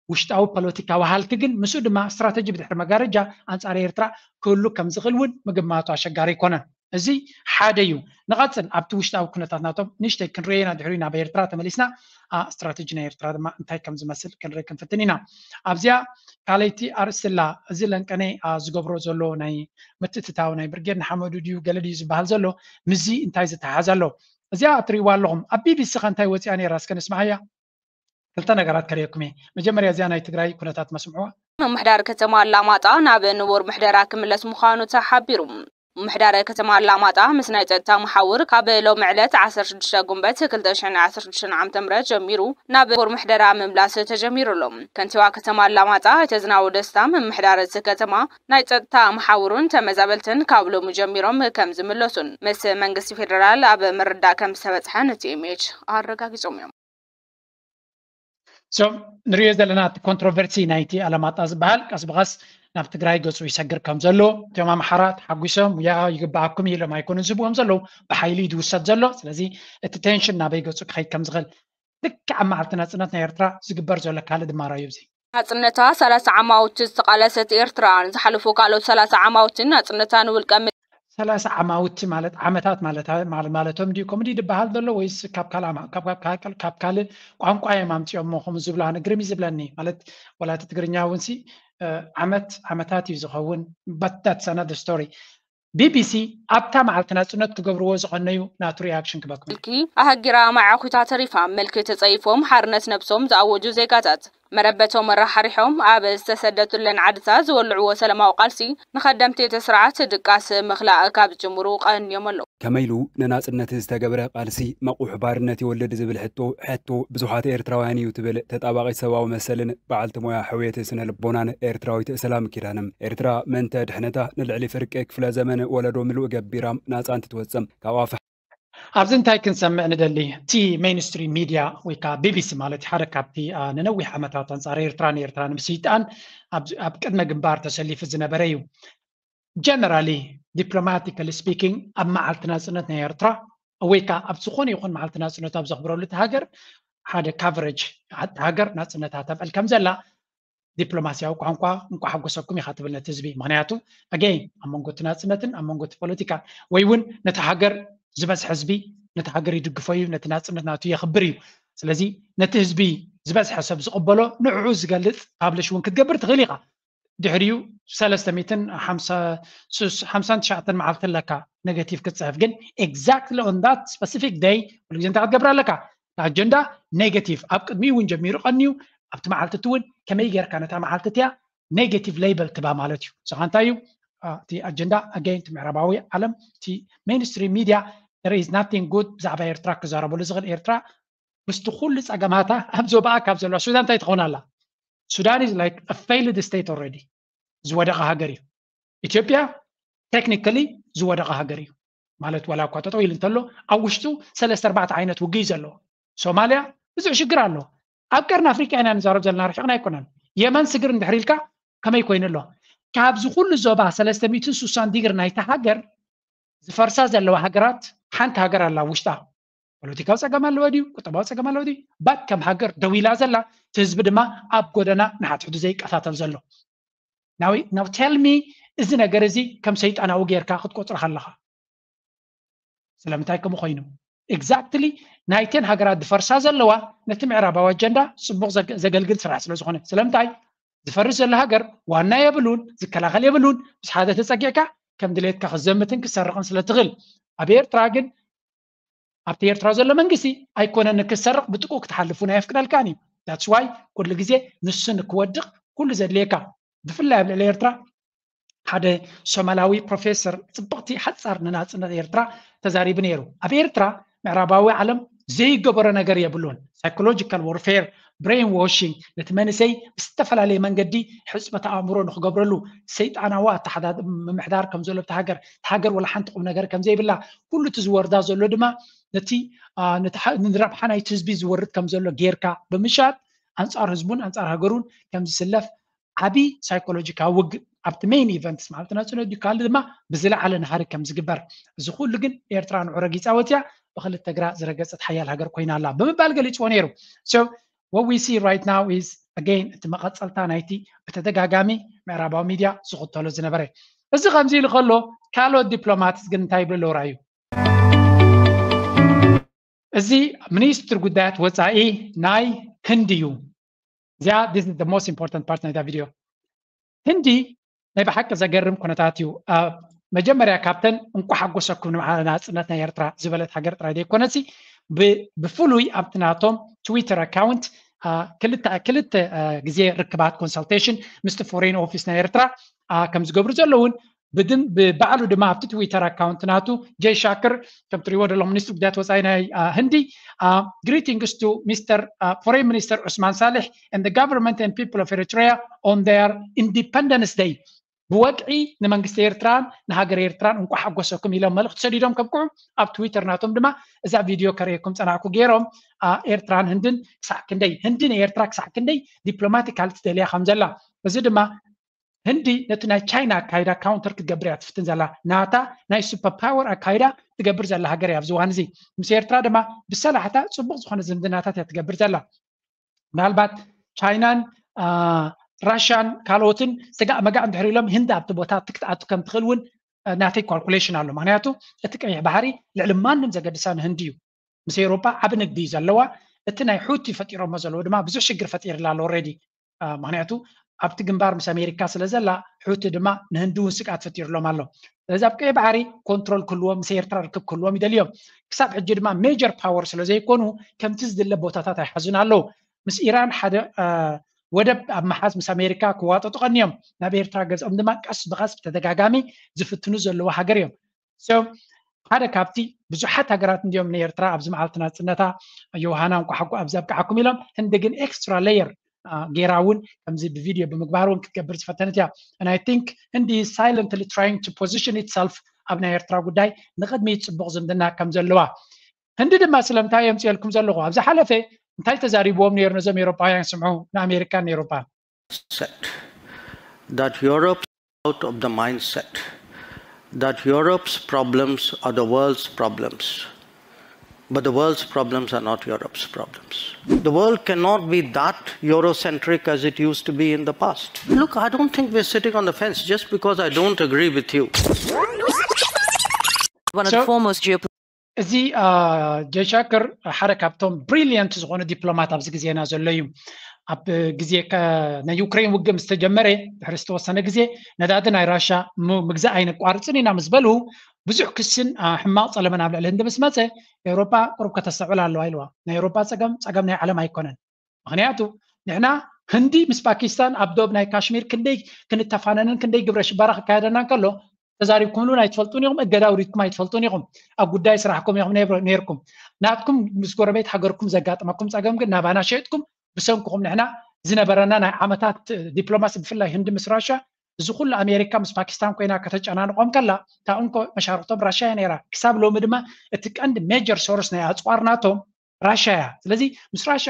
ውሽጣዊ ፖለቲካዊ ሃልኪ ግን ምስኡ ድማ ስትራተጂ ብድሕሪ መጋረጃ ኣንፃር ኤርትራ ክህሉ ከም ዝኽእል እውን ምግማቱ ኣሸጋሪ ኣይኮነን። እዚ ሓደ እዩ። ንቐፅል ኣብቲ ውሽጣዊ ኩነታት ናቶም ንእሽተይ ክንርእዮ ኢና። ድሕሪኡ ናብ ኤርትራ ተመሊስና ስትራተጂ ናይ ኤርትራ ድማ እንታይ ከም ዝመስል ክንርኢ ክንፍትን ኢና። ኣብዚኣ ካልኣይቲ ኣርእስቲ ኣላ። እዚ ለንቀነ ዝገብሮ ዘሎ ናይ ምትእትታው ናይ ብርጌድ ንሓመዱ ድዩ ገለ ድዩ ዝበሃል ዘሎ ምስዚ እንታይ ዝተሓሓዝ ኣሎ? እዚኣ እትርእይዋ ኣለኹም ኣብ ቢቢሲ ከ እንታይ ወፂኣ ነይራ እስከ ንስምዓያ። ክልተ ነገራት ከርእየኩም እየ። መጀመርያ እዚኣ ናይ ትግራይ ኩነታት መስምዕዋ። ምምሕዳር ከተማ ኣላማጣ ናብ ንቡር ምሕደራ ክምለስ ምዃኑ ተሓቢሩ። ምምሕዳር ከተማ ኣላማጣ ምስ ናይ ጸጥታ መሓውር ካብ ሎሚ ዕለት ዓሰርተ ሽዱሽተ ጉንበት ክልተ ሽሕን ዓሰርተ ሽዱሽተን ዓመተ ምህረት ጀሚሩ ናብ ንቡር ምሕደራ ምምላስ ተጀሚሩ ኣሎ። ከንቲባ ከተማ ኣላማጣ ኣይተ ዝናቡ ደስታ ምምሕዳር እቲ ከተማ ናይ ጸጥታ መሓውሩን ተመዛበልትን ካብ ሎሚ ጀሚሮም ከም ዝምለሱን ምስ መንግስቲ ፌደራል ኣብ ምርዳእ ከም ዝተበጽሐን ቲኤምኤች ኣረጋጊጾም እዮም። ንሪኦ ዘለና እቲ ኮንትሮቨርሲ ናይቲ ኣለማጣ ዝበሃል ቀስ ብቐስ ናብ ትግራይ ገፁ ይሰግር ከም ዘሎ እቶም ኣምሓራ ተሓጒሶም ያ ይግበኣኩም ኢሎም ኣይኮኑን ዝህብዎም ዘለዉ ብሓይሊ እዩ ዝውሰድ ዘሎ። ስለዚ እቲ ቴንሽን ናበይ ገፁ ክኸይድ ከም ዝኽእል ልክዕ ኣብ መዓልቲ ናፅነት ናይ ኤርትራ ዝግበር ዘሎ ካልእ ድማር እዩ። እዚ ናፅነታ ሰላሳ ዓማውቲ ዝተቓለሰት ኤርትራ ንዝሓለፉ ካልኦት ሰላሳ ዓማውቲ ናፅነታ ንውልቀ ሰላሳ ዓማውቲ ማለት ዓመታት ማለቶም ድዩ ከምኡ ድዩ ዝበሃል ዘሎ ወይስ ካብ ካልእ ካልእ ቋንቋ እዮም ኣምፅኦሞ ከምኡ ዝብሉ ኣነ ግርም እዩ ዝብለኒ። ማለት ዋላ እቲ ትግርኛ እውን ሲ ዓመት ዓመታት እዩ ዝኸውን። But that's another story። ቢቢሲ ኣብታ መዓልቲ ናፅነት ክገብርዎ ዝቐነዩ ናቱ ሪኣክሽን ክበኩም። ምልኪ ኣህጊራ ማዕኹታ ተሪፋ ምልኪ ተፀይፎም ሓርነት ነብሶም ዝኣወጁ ዜጋታት መረበቶም ኣራሓሪሖም ኣብ ዝተሰደቱለን ዓድታት ዝወልዕዎ ሰላማዊ ቃልሲ ንኸደምቲ እቲ ስርዓት ድቃስ ምኽላእ ካብ ዝጅምሩ ቀንዮም ኣለዉ። ከመይ ኢሉ ንናጽነት ዝተገብረ ቃልሲ መቑሕ ባርነት ይወልድ ዝብል ሕቶ ሕቶ ብዙሓት ኤርትራውያን እዩ ትብል ተጣባቒት ሰብኣዊ መሰልን በዓልቲ ሞያ ሕውየት ስነ ልቦናን ኤርትራዊት ሰላም ኪዳነ። ኤርትራ ምእንተ ድሕነታ ንልዕሊ ፍርቂ ክፍለ ዘመን ወለዶ ምሉእ ገቢራ ናጻ እንትትወጽእ ካብ ኣፍ ኣብዚ እንታይ ክንሰምዕ ንደሊ? እቲ ሜይንስትሪም ሚድያ ወይ ከዓ ቢቢሲ ማለት ሓደ ካብቲ ንነዊሕ ዓመታት ኣንፃር ኤርትራ ንኤርትራ ንምስይጣን ኣብ ቅድመ ግንባር ተሰሊፉ ዝነበረ እዩ። ጀነራሊ ዲፕሎማቲካሊ ስፒኪንግ ኣብ መዓልቲ ናፅነት ናይ ኤርትራ ወይ ከዓ ኣብ ዝኾነ ይኹን መዓልቲ ናፅነቱ ኣብ ዘኽብረሉ እቲ ሃገር ሓደ ካቨሬጅ ሃገር ናፅነታ ተብዕል ከም ዘላ ዲፕሎማሲያዊ ቋንቋ እንኳ ሓጎሰኩም ኢኻ ትብል ነቲ ህዝቢ። ምክንያቱ ኣገይን ኣብ መንጎ እቲ ናፅነትን ኣብ መንጎ እቲ ፖለቲካ ወይ እውን ነቲ ሃገር ዝበዝሐ ህዝቢ ነቲ ሃገር ይድግፎ እዩ፣ ነቲ ናፅነት ናቱ የኽብር እዩ። ስለዚ ነቲ ህዝቢ ዝበዝሐ ሰብ ዝቕበሎ ንዕኡ ዝገልፅ ፓብሊሽ እውን ክትገብር ትኽእል ኢኻ። ድሕሪኡ ሰለስተ ሚእትን ሓምሳን ትሽዓተን መዓልቲ ኣለካ ኔጋቲቭ ክትፅሕፍ። ግን exactly on that specific day ኩሉ ግዜ እንታይ ክትገብር ኣለካ? ኣጀንዳ ኔጋቲቭ ኣብ ቅድሚኡ እውን ጀሚሩ ቀንዩ ኣብቲ መዓልቲ እቲ እውን ከመይ ጌርካ ነታ መዓልቲ እቲኣ ኔጋቲቭ ሌበል ትባ ማለት እዩ። ንስኻ እንታይ እዩ እቲ ኣጀንዳ ኣገይን እቲ ምዕራባዊ ዓለም እቲ ሜይንስትሪም ሚድያ there is nothing good ብዛዕባ ኤርትራ ክዛረበሉ ዝኽእል ኤርትራ ምስቲ ኩሉ ፀገማታ ኣብ ዞባኣ ካብ ዘለዋ ሱዳን እንታይ ትኸውን ኣላ? ሱዳን is like a failed state already ዝወደቐ ሃገር እዩ። ኢትዮጵያ ቴክኒካሊ ዝወደቐ ሃገር እዩ ማለት ዋላ እኳ ጠጠው ኢሉ እንተሎ ኣብ ውሽጡ ሰለስተ ኣርባዕተ ዓይነት ውግእ እዩ ዘለዎ። ሶማልያ ብዙሕ ሽግር ኣሎ። ኣብ ቀርኒ ኣፍሪቃ ኢና ንዛረብ ዘለና፣ ርሒቕና ኣይኮነን። የመን ስግር እንድሕር ኢልካ ከመይ ኮይኑ ኣሎ? ካብዚ ኩሉ ዞባ ሰለስተ ሚእትን ስሳን ዲግሪ ናይታ ሃገር ዝፈርሳ ዘለዋ ሃገራት ሓንቲ ሃገር ኣላ ውሽጣ። ፖለቲካዊ ጸገም ኣለዎ ድዩ? ቁጠባዊ ጸገም ኣለዎ ድዩ? ባት ከም ሃገር ደው ኢላ ዘላ፣ እቲ ህዝቢ ድማ ኣብ ጎደና ንሓድሕዱ ዘይቀታተል ዘሎ። ናው ናው ቴል ሚ፣ እዚ ነገር እዚ ከም ሰይጣናዊ ጌርካ ክትቆጽሮ ከለኻ ስለምንታይ ከምኡ ኮይኑ? ኤግዛክትሊ ናይተን ሃገራት ዝፈርሳ ዘለዋ ነቲ ምዕራባዊ ኣጀንዳ ጽቡቕ ዘገልግል ስራሕ ስለ ዝኾነ። ስለምንታይ? ዝፈርስ ዘሎ ሃገር ዋና የብሉን፣ ዝከላኸል የብሉን። ምስ ሓደ ተጸጊዕካ ከም ድሌትካ ክዘምትን ክሰርቕን ስለ ትኽእል። ኣብ ኤርትራ ግን ኣብቲ ኤርትራ ዘሎ መንግስቲ ኣይኮነን ክሰርቕ ብጥቁ ክትሓልፉን ኣየፍቅደልካን እዩ። ዳትስ ዋይ ኩሉ ግዜ ንሱ ንክወድቕ ኩሉ ዘድልየካ። ብፍላይ ኣብ ልዕሊ ኤርትራ ሓደ ሶማላዊ ፕሮፌሰር ጽብቕቲ ሓጻር ንናጽነት ኤርትራ ተዛሪቡ ነይሩ። ኣብ ኤርትራ ምዕራባዊ ዓለም ዘይገበሮ ነገር የብሉን። ሳይኮሎጂካል ዋርፌር፣ ብሬን ዋሽንግ፣ ነቲ መንእሰይ ብዝተፈላለየ መንገዲ ሕጽበት ኣእምሮ ንክገብረሉ ሰይጣናዊ ኣተሓዳድ ምምሕዳር ከም ዘሎ ኣብቲ ሃገር፣ እቲ ሃገር ወላ ሓንቲ ቁም ነገር ከም ዘይብላ፣ ኩሉ እቲ ዝወርዳ ዘሎ ድማ ነቲ ንረብሓ ናይቲ ህዝቢ ዝወርድ ከም ዘሎ ጌርካ ብምሻጥ ኣንጻር ህዝቡን ኣንጻር ሃገሩን ከም ዝስለፍ ዓቢ ሳይኮሎጂካዊ ውግእ ኣብቲ ሜይን ኢቨንትስ ማለት ናጽነት ድዩ ካልእ ድማ ብዝለዓለ ናሃሪ ከም ዝግበር። እዚ ኩሉ ግን ኤርትራ ንዑ ረጊጻ ወጽያ ብክልተ ግራ ዝረገጸት ሓያል ሃገር ኮይና ኣላ ብምባል ገሊጽዎ ነይሩ። So what we see right now is again እቲ መቐጸልታ ናይቲ ብተደጋጋሚ ምዕራባዊ ሚድያ ዝኽተሎ ዝነበረ። እዚ ከምዚ ኢሉ ከሎ ካልኦት ዲፕሎማትስ ግን እንታይ ይብሉ ኣለዉ? ራእዩ እዚ ሚኒስትር ጉዳያት ወጻኢ ናይ ህንዲ እዩ። እዚኣ this is the most important part ናይዛ ቪድዮ። ህንዲ ናይ ብሓቂ ዘገርም ኩነታት እዩ። መጀመርያ ካብተን እንኳ ሓጎሰኩም ንበዓል ናጽነት ናይ ኤርትራ ዝበለት ሃገር ጥራይ ዘይኮነሲ ብፍሉይ ኣብቲ ናቶም ትዊተር ኣካውንት ክልተ ግዜ ርክባት ኮንሰልቴሽን ምስቲ ፎሬን ኦፊስ ናይ ኤርትራ ከም ዝገብሩ ዘለውን ብባዕሉ ድማ ኣብቲ ትዊተር ኣካውንት ናቱ ጀይ ሻክር ከም ትሪእዎ ዘለኹም ሚኒስትር ጉዳያት ወፃኢ ናይ ህንዲ greetings to Mister Foreign Minister Usman Saleh and the government and people of Eritrea on their Independence Day ብወግዒ ንመንግስቲ ኤርትራን ንሃገር ኤርትራን እንኳዕ ሓጎሰኩም ኢሎም መልእኽቲ ሰዲዶም ከብቅዑ ኣብ ትዊተር ናቶም ድማ እዛ ቪድዮ ከርእየኩም ፀናዕኩ ገይሮም ኤርትራን ህንድን ክሳዕ ክንደይ ህንዲ ንኤርትራ ክሳዕ ክንደይ ዲፕሎማቲካል ትደልያ ከም ዘላ እዚ ድማ ህንዲ ነቲ ናይ ቻይና ኣካይዳ ካውንተር ክትገብር እያ ትፍትን ዘላ ናታ ናይ ሱፐር ፓወር ኣካይዳ ትገብር ዘላ ሃገር እያ ኣብዚ እዋን እዚ ምስ ኤርትራ ድማ ብሰላሕታ ፅቡቅ ዝኮነ ዝምድናታት እያ ትገብር ዘላ ምናልባት ቻይናን ራሽያን ካልኦትን ስጋእ መጋእ እንድሕር ኢሎም ህንዲ ኣብቲ ቦታ ትክትኣቱ ከም ትኽእል እውን ናተይ ካልኩሌሽን ኣሎ ምክንያቱ እቲ ቀይሕ ባሕሪ ልዕሊ ማንም ዘገድሳ ንህንዲ እዩ ምስ ኤውሮጳ ዓቢ ንግዲ እዩ ዘለዋ እቲ ናይ ሑቲ ፈጢሮሞ ዘለዉ ድማ ብዙሕ ሽግር ፈጢርላ ኣሎ ኦልሬዲ ምክንያቱ ኣብቲ ግንባር ምስ ኣሜሪካ ስለ ዘላ ሑቲ ድማ ንህንዲ እውን ስግኣት ፈጢርሎም ኣሎ ስለዚ ኣብ ቀይ ባሕሪ ኮንትሮል ክህልዎም ምስ ኤርትራ ርክብ ክህልዎም ይደልዮም ክሳብ ሕጂ ድማ ሜጀር ፓወር ስለ ዘይኮኑ ከምቲ ዝድለ ቦታታት ኣይሓዙን ኣለዉ ምስ ኢራን ሓደ ወደብ ኣብ መሓዝ ምስ ኣሜሪካ ክዋጠጡ ቀንዮም ናብ ኤርትራ ገዝኦም ድማ ቀስ ብቐስ ብተደጋጋሚ ዝፍትኑ ዘለዉ ሃገር እዮም ሓደ ካብቲ ብዙሓት ሃገራት እንዲዮም ንኤርትራ ኣብዚ መዓልቲ ናፅነታ ዮሃና እንኳ ሓጎ ኣብዚ ኣብቅዓኩም ኢሎም ህንዲ ግን ኤክስትራ ሌየር ጌራ እውን ከምዚ ብቪድዮ ብምግባር እውን ክትገብር ዝፈተነት እያ and I think ህንዲ silently trying to position itself ኣብ ናይ ኤርትራ ጉዳይ ንቅድሚት ፅቡቅ ዝምድና ከም ዘለዋ ህንዲ ድማ ስለምንታይ የምፅየልኩም ዘለኹ ኣብ ዝሓለፈ እንታይ ተዛሪብዎም ነይሩ ነዞም ኤውሮጳውያን ስምዑ ንኣሜሪካን ኤውሮጳን that Europe out of the mindset that Europe's problems are the world's problems. But the world's problems are not Europe's problems. The world cannot be that Eurocentric as it used to be in the past. Look, I don't think we're sitting on the fence just because I don't agree with you. One of the foremost geopolitical እዚ ጀሻክር ሓደ ካብቶም ብሪሊየንት ዝኾኑ ዲፕሎማት ኣብዚ ግዜና ዘሎ እዩ ኣብ ግዜ ናይ ዩክሬን ውግእ ምስ ተጀመረ ድሕሪ ዝተወሰነ ግዜ ነዳዲ ናይ ራሻ ምግዛእ ኣይነቋርፅን ኢና ምስ በሉ ብዙሕ ክስን ሕማቕ ፀለመን ኣብ ልዕሊ ህንዲ ምስ መፀ ኤውሮጳ ቁሩብ ከተስተውዕል ኣለዋ ኢልዋ ናይ ኤውሮጳ ፀገም ፀገም ናይ ዓለም ኣይኮነን ምክንያቱ ንሕና ህንዲ ምስ ፓኪስታን ኣብ ዶብ ናይ ካሽሚር ክንደይ ክንተፋነንን ክንደይ ግብረ ሽበራ ክካየደና እንከሎ ተዛሪብኩምሉ ኣይትፈልጡን ኢኹም እገዳ ውሪድኩም ኣይትፈልጡን ኢኹም ኣብ ጉዳይ ስራሕኩም ኢኹም ነይርኩም ናትኩም ምስ ጎረቤት ሃገርኩም ዘጋጥመኩም ፀገም ግን ናባና ሸጥኩም ብሰንክኹም ንሕና ዝነበረና ናይ ዓመታት ዲፕሎማሲ ብፍላይ ህንዲ ምስ ራሻ እዚ ኩሉ ኣሜሪካ ምስ ፓኪስታን ኮይና ከተጨናንቆም ከላ እታ እንኮ መሻርክቶም ራሻ እያ ነይራ ክሳብ ሎሚ ድማ እቲ ቀንዲ ሜጀር ሶርስ ናይ ኣፅዋር ናቶም ራሻ እያ። ስለዚ ምስ ራሻ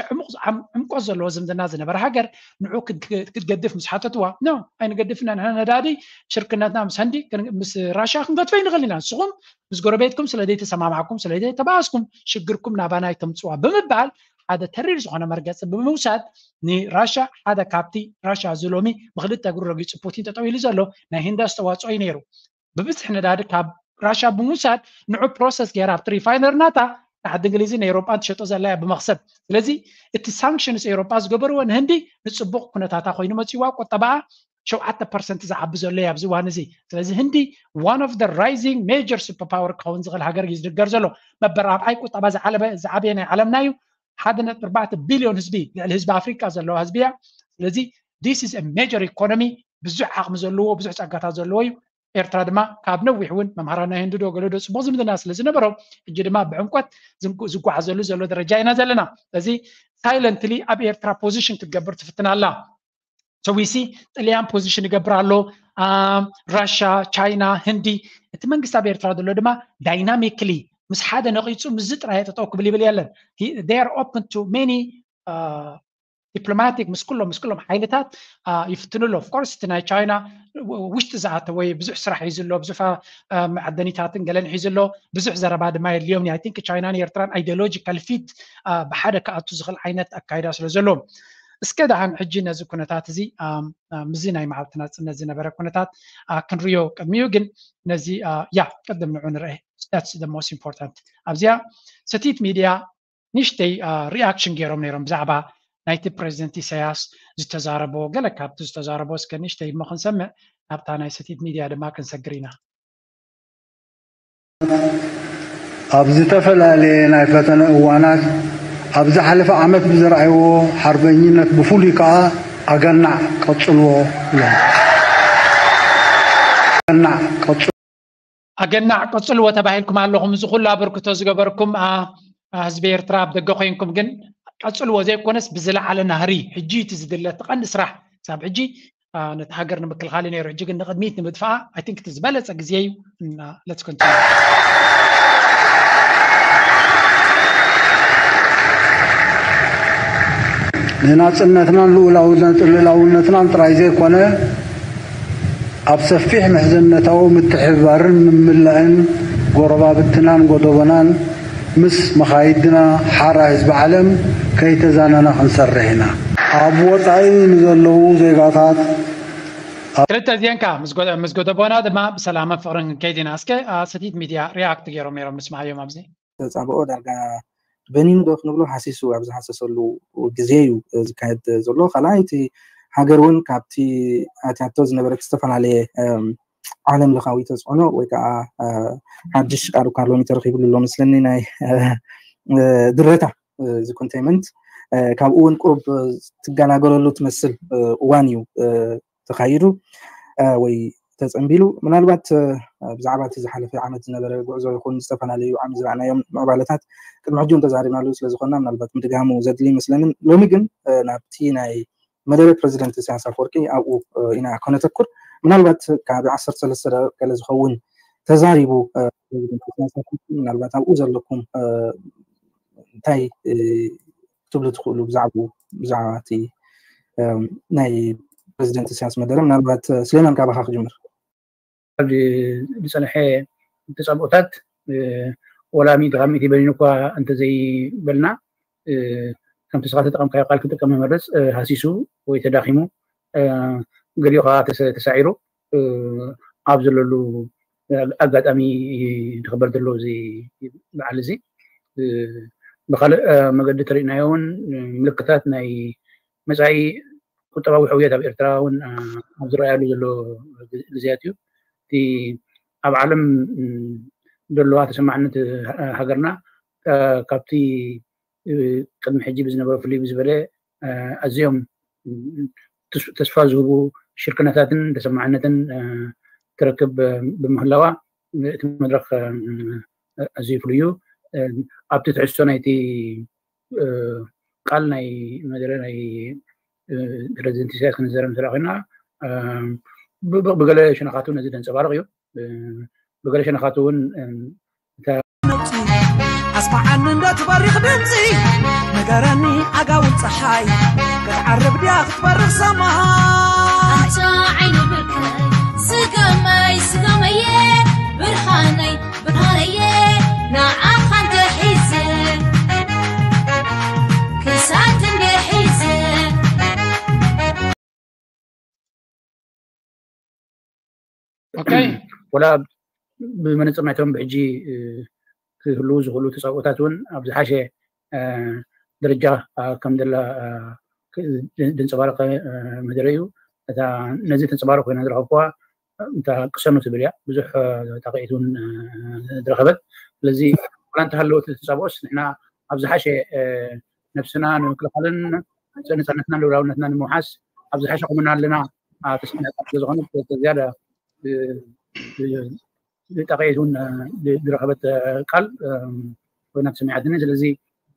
ዕምቆት ዘለዎ ዝምድና ዝነበረ ሃገር ንዑ ክትገድፍ ምስ ሓተትዋ፣ ኖ፣ ኣይንገድፍና፣ ንሕና ነዳዲ ሽርክነትና ምስ ህንዲ ምስ ራሻ ክንገድፎ ይንኽእል ኢና፣ ንስኹም ምስ ጎረቤትኩም ስለ ዘይተሰማማዕኩም ስለ ዘይተባኣስኩም ሽግርኩም ናባና ኣይተምፅዋ ብምባል ሓደ ተሪር ዝኾነ መርገፂ ብምውሳድ ንራሻ ሓደ ካብቲ ራሻ እዚ ሎሚ ብክልተ እግሩ ረጊፁ ፑቲን ጠጠው ኢሉ ዘሎ ናይ ህንዲ ኣስተዋፅኦ እዩ ነይሩ። ብብዝሒ ነዳዲ ካብ ራሻ ብምውሳድ ንዑ ፕሮሰስ ገይራ ኣብቲ ሪፋይነር ናታ ንዓዲ እንግሊዝን ኤውሮጳን ትሸጦ ዘላ እያ ብመኽሰብ። ስለዚ እቲ ሳንክሽንስ ኤውሮጳ ዝገበርዎ ንህንዲ ንፅቡቕ ኩነታታ ኮይኑ መፅዋ፣ ቁጠባኣ ሸውዓተ ፐርሰንት ዝዓቢ ዘሎ እዩ ኣብዚ እዋን እዚ። ስለዚ ህንዲ one of the rising major super power ክኸውን ዝኽእል ሃገር እዩ ዝድገር ዘሎ። መበል ራብዓይ ቁጠባ ዝዓለበ ዝዓበየ ናይ ዓለምና እዩ። ሓደ ነጥቢ ኣርባዕተ ቢልዮን ህዝቢ፣ ልዕሊ ህዝቢ ኣፍሪቃ ዘለዋ ህዝቢ እያ። ስለዚ this is a major economy፣ ብዙሕ ዓቕሚ ዘለዎ ብዙሕ ጸጋታት ዘለዎ እዩ። ኤርትራ ድማ ካብ ነዊሕ እውን መምሃራን ናይ ህንዲ ዶ ገለ ዶ ጽቡቕ ዝምድና ስለ ዝነበሮም ሕጂ ድማ ብዕምቆት ዝጓዓዘሉ ዘሎ ደረጃ ኢና ዘለና። እዚ ሳይለንትሊ ኣብ ኤርትራ ፖዚሽን ክትገብር ትፍትን ኣላ። ሰዊሲ ጥልያን ፖዚሽን ይገብር ኣሎ። ራሻ፣ ቻይና፣ ህንዲ። እቲ መንግስቲ ኣብ ኤርትራ ዘሎ ድማ ዳይናሚክሊ ምስ ሓደ ነቒጹ ምስዚ ጥራይ ጠጠው ክብል ይብል የለን። They are open to many diplomatic ምስ ኩሎም ምስ ኩሎም ሓይልታት ይፍትኑ ኣሎ። Of course እቲ ናይ ቻይና ውሽጢ ዝኣተወ ብዙሕ ስራሕ ሒዙ ኣሎ፣ ብዙሕ መዓደኒታትን ገለን ሒዙ ኣሎ። ብዙሕ ዘረባ ድማ የድልዮም። I think ቻይናን ኤርትራን ideological fit ብሓደ ክኣቱ ዝኽእል ዓይነት ኣካይዳ ስለ ዘለዎም እስከ ደሓን ሕጂ ነዚ ኩነታት እዚ ምስዚ ናይ መዓልቲ ናጽነት ዝነበረ ኩነታት ክንሪዮ ቅድሚኡ ግን ነዚ ያ ቅድም ንዑ ንርአ። That's the most important። ኣብዚኣ ሰቲት ሚድያ ንእሽተይ ሪኣክሽን ገይሮም ነይሮም ብዛዕባ ናይቲ ፕሬዚደንት ኢሳያስ ዝተዛረቦ ገለ ካብቲ ዝተዛረቦ እስከ ንእሽተይ እሞ ክንሰምዕ ናብታ ናይ ሰቲት ሚድያ ድማ ክንሰግር ኢና። ኣብ ዝተፈላለየ ናይ ፈተነ እዋናት ኣብ ዝሓለፈ ዓመት ብዘርኣይዎ ሓርበኝነት ብፍሉይ ከኣ ኣገናዕ ቀጽልዎ ኢሎም። ኣገናዕ ቀጽ ኣገናዕ ቀጽልዎ ተባሂልኩም ኣለኹም። እዚ ኩሉ ኣበርክቶ ዝገበርኩም ህዝቢ ኤርትራ ኣብ ደገ ኮይንኩም ግን ቀጽልዎ ዘይኮነስ ብዝለዓለ ናህሪ ሕጂ እቲ ዝድለ እቲ ቀንዲ ስራሕ ክሳብ ሕጂ ነቲ ሃገር ንምክልኻል እዩ ነይሩ። ሕጂ ግን ንቕድሚት ንምድፋኣ I think እቲ ዝበለጸ ግዜ እዩ። Let's continue። ንናጽነትናን ልኡላውነትናን ጥራይ ዘይኮነ ኣብ ሰፊሕ ምሕዝነታዊ ምትሕብባርን ምምላእን ጎረባብትናን ጎደቦናን ምስ መኻይድና ሓራ ህዝቢ ዓለም ከይተዛነና ክንሰርሕ ኢና። ኣብ ወጻኢ ንዘለዉ ዜጋታት ክልተ እዚአንካ ምስ ጎደቦና ድማ ብሰላምን ፍቕርን ክንከይድ ኢና። እስከ ሰቲት ሚድያ ሪኣክት ገይሮም ነይሮም ንስማዓዮም ኣብዚ። ተጻብኦ ዳርጋ በኒኑ ዶ ክንብሎ ሃሲሱ ኣብ ዝሃሰሰሉ ግዜ እዩ ዝካየድ ዘሎ። ካልኣይ እቲ ሃገር እውን ካብቲ ኣትያቶ ዝነበረት ዝተፈላለየ ዓለም ለኻዊ ተፅዕኖ ወይ ከዓ ሓድሽ ቃሉ ካርሎሚ ተረኪብሉ ኣሎ መስለኒ ናይ ድረታ ዝኮንቴንመንት ካብኡ እውን ቁሩብ ትገላገለሉ ትመስል እዋን እዩ ተኻይዱ ወይ ተፀንቢሉ ምናልባት ብዛዕባ እቲ ዝሓለፈ ዓመት ዝነበረ ጉዕዞ ይኹን ዝተፈላለዩ ዓሚ ዝረኣናዮም ምዕባለታት ቅድሚ ሕጂ እውን ተዛሪብናሉ ስለዝኮና ምናልባት ምድጋሙ ዘድሊ ይመስለንን ሎሚ ግን ናብቲ ናይ መደረ ፕረዚደንት ኢሳያስ ኣፈወርቂ ኣብኡ ኢና ከነተኩር ምናልባት ካብ ዓሰርተ ሰለስተ ደቂቅ ገለ ዝኸውን ተዛሪቡ ፕረዚደንት ኢሳያስ ኣፈወርቂ ምናልባት ኣብኡ ዘለኩም እንታይ ክትብሉ ትኽእሉ ብዛዕባኡ ብዛዕባ እቲ ናይ ፕረዚደንት ኢሳያስ መደረ ምናልባት ስሌማን ካባኻ ክጅምር ኣብዚ ዝፀንሐ ተፃብኦታት ወላ ሚእቲ ካብ ሚእቲ በሊኑ እኳ እንተዘይበልና ከምቲ ስኻ ተጠቐምካዮ ቃል ክጥቀም መመረፅ ሃሲሱ ወይ ተዳኺሙ ገሊኡ ከዓ ተሳዒሩ ኣብ ዘለሉ ኣጋጣሚ ዝኽበር ዘሎ እዚ በዓል እዚ ብካልእ መገዲ ተሪእናዮ እውን ምልክታት ናይ መፃኢ ቁጠባዊ ሕውየት ኣብ ኤርትራ እውን ኣብ ዝረኣየሉ ዘሎ ግዜያት እዩ። እቲ ኣብ ዓለም ዘለዋ ተሰማዕነት ሃገርና ካብቲ ቅድሚ ሕጂ ብዝነበረ ፍልይ ብዝበለ ኣዝዮም ተስፋ ዝህቡ ሽርክነታትን ተሰማዕነትን ትረክብ ብምህላዋ እቲ መድረክ ኣዝዩ ፍሉይ እዩ። ኣብቲ ትሕዝቶ ናይቲ ቃል ናይ መደረ ናይ ፕረዚደንት ኢሳያስ ክንዘረብ እንተ ኮይና ብገለ ሸነኻቱ ነዚ ዘንፀባርቕ እዩ። ብገለ ሸነኻቱ እውን ኣስማዓኒ እንዶ ትበሪኽ ድምፂ፣ ንገረኒ ዓጋውን ፀሓይ ክትዓርብ ድያ ክትበርቕ ሰማይ? ኣታ ዓይኒ ብርከይ ስገመይ ስገመየ፣ ብርሃነይ ብርሃነየ፣ ንዓኻ እንድሕር ሒዘ ክሳድ እንድሕር ሒዘ። ኦኬ። ወላ ብመነፅር ናይቶም ብሕጂ ክህልዉ ዝኽእሉ ተፃብኦታት እውን ኣብ ዝሓሸ ደረጃ ከም ዘላ ዘንፀባረቐ መደረ እዩ። እታ ነዚ ተንፀባረቕ ኮይና ዝረኸብኩዋ እታ ቅሰኑ ትብል እያ። ብዙሕ ጣቕዒት እውን ዝረኸበት። ስለዚ ዋላ እንተሃለወት ተፃብኦስ ንሕና ኣብ ዝሓሸ ነብስና ንምክልኻልን ነፃነትና ልኡላውነትና ንምውሓስ ኣብ ዝሓሸ ቁመና ኣለና ተሰሚዕካ ስለዝኾነ ዝያዳ ጣቕዒት እውን ዝረኸበት ቃል ኮይና ተሰሚዓትኒ። ስለዚ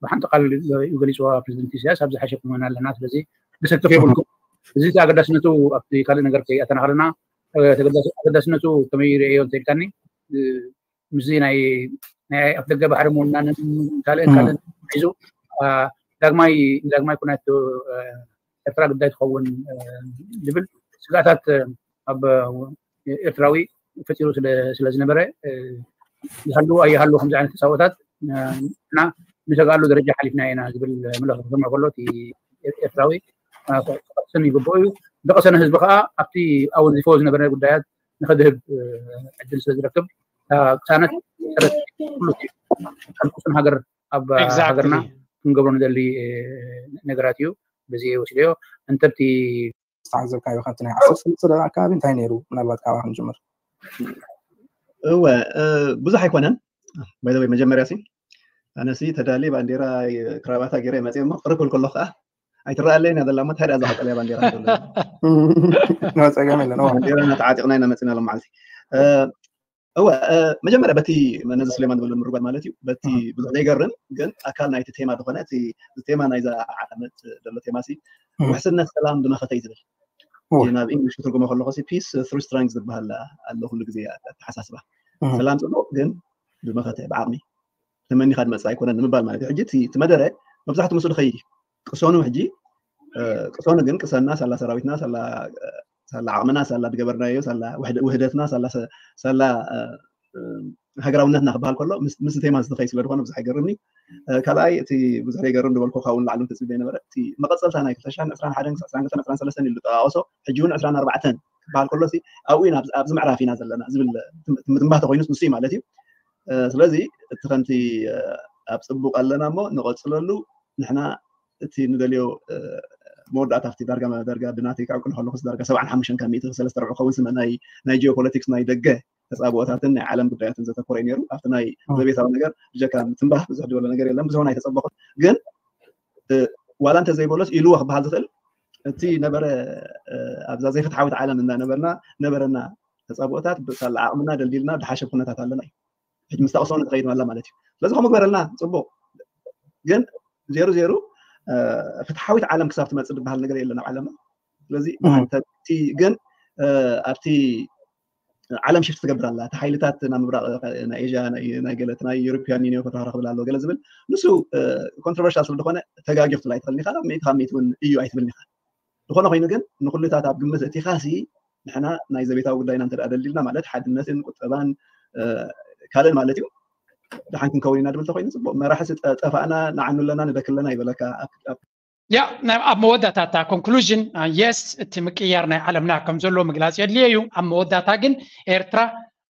ብሓንቲ ቃል እዩ ገሊፅዋ ፕሬዚደንት ኢሳያስ፣ ኣብ ዝሓሸ ቁመና ኣለና። ስለዚ መሰክፍ የብልኩም። እዚ ኣገዳስነቱ ኣብቲ ካልእ ነገር ከይኣተና ከለና ኣገዳስነቱ ከመይ ይርእዮ እንተኢልካኒ ምስዚ ናይ ናይ ኣፍደገ ባሕሪ ምውናንን ካልእን ካልእን ሒዙ ዳግማይ ንዳግማይ ኩናት ኤርትራ ግዳይ ትኸውን ዝብል ስጋታት ኣብ ኤርትራዊ ፈጢሩ ስለ ዝነበረ ይሃሉ ኣይሃሉ ከምዚ ዓይነት ተጻቦታት እና ንሰግኣሉ ደረጃ ሓሊፍና ኢና ዝብል መልእኽቲ ክሰምዕ ከሎ እቲ ኤርትራዊ ክቐስን ይግብኦ እዩ። ዝቐሰነ ህዝቢ ከዓ ኣብቲ ኣወንዚፎ ዝነበረ ጉዳያት ንኸድህብ ዕድል ስለ ዝረክብ ቅሳነት ሰረት ኩሉ ሕልኩስን ሃገር ኣብ ሃገርና ክንገብሮ ንደሊ ነገራት እዩ። በዚ ወሲደዮ እንተቲ ዝተዓዘብካዮ ካብቲ ናይ ዓሰርተ ሰለስተ ደቂቕ ኣከባቢ እንታይ ነይሩ? ምናልባት ካብኣ ክንጅምር። እወ ብዙሕ ኣይኮነን። ባይዘወይ መጀመርያ ሲ ኣነሲ ተዳሊ ባንዴራ ክራባታ ገይረ መፅእ እሞ ቅርብ ክብል ከሎ ከዓ ኣይትረኣለይን እያ ዘላ እሞ እንታይ ደኣ እዛ ቀጠልያ ባንዴራ ዘሎ ጸገም የለን። ባንዴራ እናተዓጢቕና ኢና መፂና ሎም መዓልቲ። እወ መጀመርያ በቲ ነዚ ስሌማን ዝበሎ ምርጓድ ማለት እዩ። በቲ ብዙሕ ዘይገርም ግን ኣካል ናይቲ ቴማ ዝኾነ እቲ ቴማ ናይዛ ዓመት ዘሎ ቴማ ሲ ውሕስነት ሰላም ብመኸተ እዩ ዝብል። ናብ ኢንግሊሽ ክትርጉሞ ከለኹ ሲ peace through strength ዝበሃል ኣሎ ኩሉ ግዜ ኣተሓሳስባ። ሰላም ፅቡቕ ግን ብመኸተ ብዓቕሚ ተመኒኻ ዝመፅእ ኣይኮነን ንምባል ማለት እዩ። ሕጂ እቲ መደረ መብዛሕትኡ ምስኡ ዝኸይድ እዩ። ቅሰኑ ሕጂ ቅሰኑ ግን ቅሰና ሳላ ሰራዊትና ሳላ ዓቕምና ሳላ ዝገበርናዮ ሳላ ውህደትና ሳላ ሃገራውነትና ክበሃል ከሎ ምስ ቴማ ዝተኸይ ስለ ዝኾነ ብዙሕ ኣይገርምኒ። ካልኣይ እቲ ብዙሕ ዘይገርም ዝበልኩ ካብኡ ንላዕሊ ተፅቢበ ነበረ እቲ መቐፀልታ ናይ ክልተ ሽሕን ዕስራን ሓደን ክሳብ ዕስራን ክልተን ዕስራን ሰለስተን ኢሉ ዝጠቃቐሶ ሕጂ እውን ዕስራን ኣርባዕተን ክበሃል ከሎ ኣብኡ ኣብዚ ምዕራፍ ኢና ዘለና ዝብል ትንባተ ኮይኑ ንሱ ማለት እዩ። ስለዚ እቲ ከምቲ ኣብ ፅቡቅ ኣለና እሞ ንቐፅለሉ ንሕና እቲ ንደልዮ መወዳእታ ኣብቲ ዳርጋ ዳርጋ ብናተይ ክዕቅኖ ከለኩስ ዳርጋ ሰብዓን ሓሙሽተን ካብ ሚእቲ ሰለስተ ርብዒ ክኸውን ስመ ናይ ናይ ጂኦፖለቲክስ ናይ ደገ ተፃብኦታትን ናይ ዓለም ጉዳያትን ዘተኮረ እዩ ነይሩ። ኣብቲ ናይ ዘቤታዊ ነገር ብጀካ ምትንባህ ብዙሕ ዝበሎ ነገር የለን። ብዙሕ ናይ ተፀበኹት ግን ዋላ እንተ ዘይበሎስ ኢልዎ ክበሃል ዝኽእል እቲ ነበረ ኣብዛ ዘይፍትሓዊት ዓለም እንዳነበርና ነበረና ተፃብኦታት ብሳላ ዓቕምና ደልዲልና ድሓሸ ኩነታት ኣለና እዩ። ሕጂ ምስ ተቕሰኑ ትኸይድ ኣላ ማለት እዩ። ስለዚ ከምኡ ግበረልና ፅቡቅ ግን ዜሩ ዜሩ ፍትሓዊት ዓለም ክሳብ ትመፅእ ዝበሃል ነገር የለን ኣብ ዓለምና። ስለዚ ብሓንሳብ ግን ኣብቲ ዓለም ሽፍት ትገብር ኣላ። እቲ ሓይልታት ናብ ምብራቕ ናይ ኤዥያ ናይ ገለ ናይ ዩሮፒያን ዩኒዮን ከተራኽብል ኣሎ ገለ ዝብል ንሱ ኮንትሮቨርሻል ስለ ዝኾነ ተጋጊኹ ትብል ኣይትኽእልን ኢኻ። ሚእቲ ካብ ሚእቲ እውን እዩ ኣይትብልን ኢኻ። ዝኾነ ኮይኑ ግን ንኩሉታት ኣብ ግምት እቲ ካሲ ንሕና ናይ ዘቤታዊ ጉዳይና እንተ ደሊልና ማለት ሓድነትን ቁጠባን ካልእን ማለት እዩ። ደሓን ክንከውን ኢና ድብል ተኮይኑ ፅቡቅ መራሒ ጠፋእና ንዓኑ ኣለና ንደክለና ይበለካ። ያ ኣብ መወዳእታ እታ ኮንክሉዥን የስ እቲ ምቅያር ናይ ዓለምና ከም ዘሎ ምግላፅ የድልየ እዩ። ኣብ መወዳእታ ግን ኤርትራ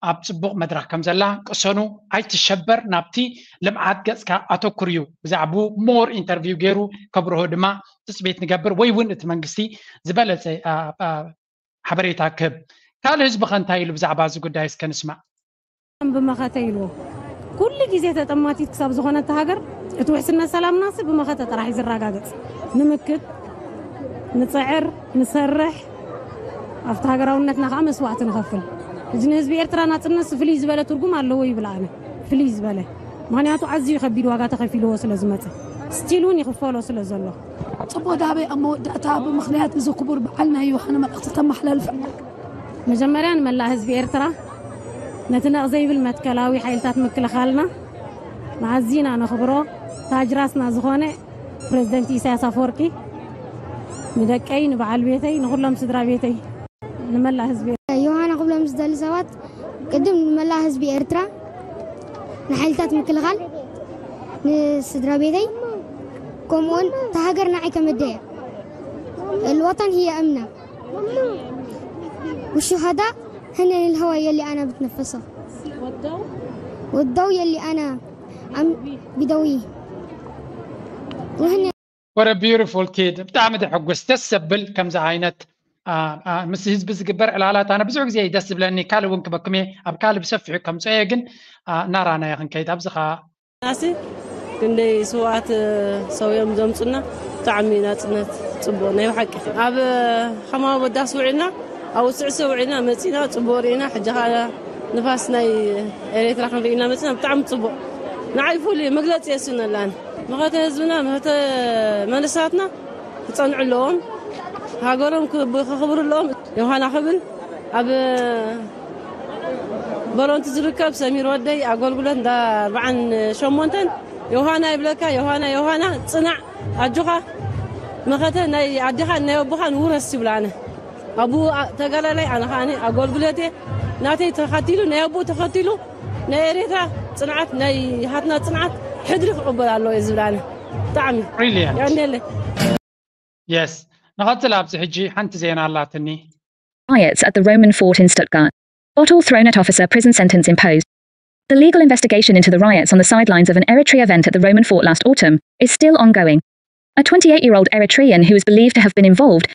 ኣብ ፅቡቅ መድረክ ከም ዘላ ቅሰኑ ኣይትሸበር ናብቲ ልምዓት ገፅካ ኣተኩር እዩ። ብዛዕባኡ ሞር ኢንተርቪው ገይሩ ከብርሆ ድማ ትፅቢት ንገብር ወይ እውን እቲ መንግስቲ ዝበለፀ ሓበሬታ ክህብ። ካልእ ህዝቢ ከ እንታይ ኢሉ ብዛዕባ እዚ ጉዳይ እስከ ንስማዕ። ብመኸተ ኢልዎ ኩሉ ግዜ ተጠማቲት ክሳብ ዝኾነት ሃገር እቲ ውሕስነት ሰላምናሲ ብመኸተ ጥራሕ እዩ ዝረጋገፅ። ንምክት ንፅዕር ንሰርሕ ኣብቲ ሃገራውነትና ከዓ መስዋዕቲ ንኸፍል። እዚ ንህዝቢ ኤርትራ ናፅነት ፍልይ ዝበለ ትርጉም ኣለዎ ይብል ኣነ። ፍልይ ዝበለ ምክንያቱ ኣዝዩ ከቢድ ዋጋ ተኸፊልዎ ስለ ዝመፀ ስቲል እውን ይኽፈሎ ስለ ዘሎ። ፅቡቅ ዳበይ ኣብ መወዳእታ ብምኽንያት እዚ ክቡር በዓል ናይ ዮሃን መልእኽቲ ተመሓላልፈ። መጀመርያ ንመላእ ህዝቢ ኤርትራ ነቲ ነቕ ዘይብል መትከላዊ ሓይልታት ምክልኻልና ንኣዝና ነኽብሮ ታጅራስና ዝኾነ ፕሬዝደንት ኢሳያስ ኣፈወርቂ ንደቀይ፣ ንበዓል ቤተይ፣ ንኹሎም ስድራ ቤተይ፣ ንመላእ ህዝቢ። ዮሃና ክብሎም ዝደሊ ሰባት፣ ቅድም ንመላእ ህዝቢ ኤርትራ፣ ንሓይልታት ምክልኻል፣ ንስድራ ቤተይ፣ ከምኡውን እታ ሃገር ንዓይ ከመደያ። الوطن هي أمنا، والشهداء هن الهوى يلي أنا بتنفسه، والضوء يلي أنا عم بدويه، وهن What a beautiful kid. ብጣዕሚ ደሕጉስ፣ ደስ ዘብል ከምዚ ዓይነት ምስ ህዝቢ ዝግበር ዕላላት ኣነ ብዙሕ ግዜ ደስ ዝብለኒ። ካልእ እውን ክበኩም እየ፣ ኣብ ካልእ ብሰፊሑ ከምፅኦ እየ፣ ግን እናራናዮ ክንከይድ ኣብዚ ከዓ ናሲ ክንደይ ስውኣት ሰውዮም ዘምፁና። ብጣዕሚ ናፅነት ፅቡቅ ናይ ብሓቂ ኣብ ሓማዊ በዳስ ውዒልና፣ ኣብ ስዕሲ ውዒልና መፂና፣ ፅቡቅ ርኢና። ሕጂ ከዓ ንፋስ ናይ ኤርትራ ክንርኢ ኢና መፂና። ብጣዕሚ ፅቡቅ፣ ንዓይ ፍሉይ መግለፂ የስነላን። መኸተ ህዝብና፣ መኸተ መንእሰያትና ክፀንዑ ኣለዎም። ሃገሮም ክብ- ከኽብሩ ኣለዎም። ዮሃና ክብል ኣብ በሮንቲ ዝርከብ ሰሚር ወደይ ኣገልግሎት እንዳ ኣርባዓን ሸሞንተን ዮሃና ይብለካ። ዮሃና፣ ዮሃና፣ ፅናዕ፣ ኣጆኻ። መኸተ ናይ ኣዴኻን ናይ ኣቦኻን ውረስ ይብላ። ኣነ ኣቡ ተጋዳላይ፣ ኣነ ከዓ ኣገልግሎት እየ። ናተይ ተኸቲሉ፣ ናይ ኣቡ ተኸቲሉ፣ ናይ ኤሬትራ ፅንዓት፣ ናይ ሃትና ፅንዓት ሕድሪ ክቕበል ኣለዎ እየ ዝብል ኣነ። ብጣዕሚ Brilliant. ያንደለ Yes. ንቐፅል። ኣብዚ ሕጂ ሓንቲ ዜና ኣላትኒ። Riots at the Roman fort in Stuttgart. Bottle thrown at officer, prison sentence imposed. The legal investigation into the riots on the sidelines of an Eritrea event at the Roman fort last autumn is still ongoing. A twenty-eight-year-old Eritrean who is believed to have been involved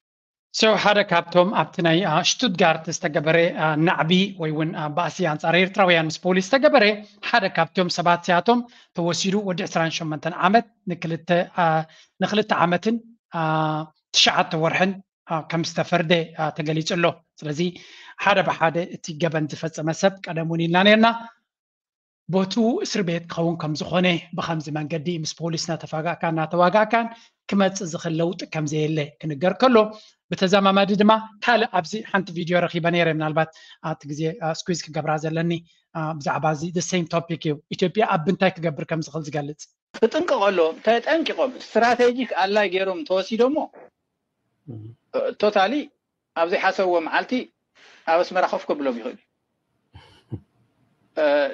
So ሓደ ካብቶም ኣብቲ ናይ አ፣ ሽቱትጋርት ዝተገበረ አ፣ ናዕቢ ወይ እውን አ፣ ባእሲ ኣንጻር ኤርትራውያን ምስ ፖሊስ ዝተገበረ ሓደ ካብቶም ሰባት እዚኣቶም ተወሲዱ ወዲ ዕስራን ሸሞንተን ዓመት ንክልተ አ፣ ንክልተ ዓመትን አ፣ ትሽዓተ ወርሕን አ፣ ከም ዝተፈርደ አ፣ ተገሊጹ ኣሎ። ስለዚ ሓደ ብሓደ እቲ ገበን ዝፈጸመ ሰብ ቀደም እውን ኢልና ነርና ቦትኡ እስር ቤት ክኸውን ከም ዝኾነ ብኸምዚ መንገዲ ምስ ፖሊስ እናተፋጋእካ እናተዋጋእካን ክመፅእ ዝኽእል ለውጢ ከም ዘየለ ክንገር ከሎ ብተዘማማዲ ድማ ካልእ ኣብዚ ሓንቲ ቪድዮ ረኺበ ነይረ ምናልባት ኣብቲ ግዜ ስኩዝ ክገብራ ዘለኒ ብዛዕባ እዚ the same topic እዩ ኢትዮጵያ ኣብ እንታይ ክገብር ከም ዝኽእል ዝገልፅ ክጥንቀቕ ኣለዎም ተጠንቂቖም ስትራቴጂክ ኣላይ ገይሮም ተወሲዶሞ ቶታሊ ኣብ ዘይሓሰብዎ መዓልቲ ኣብ ኣስመራ ኮፍ ከብሎም ይኽእል እዩ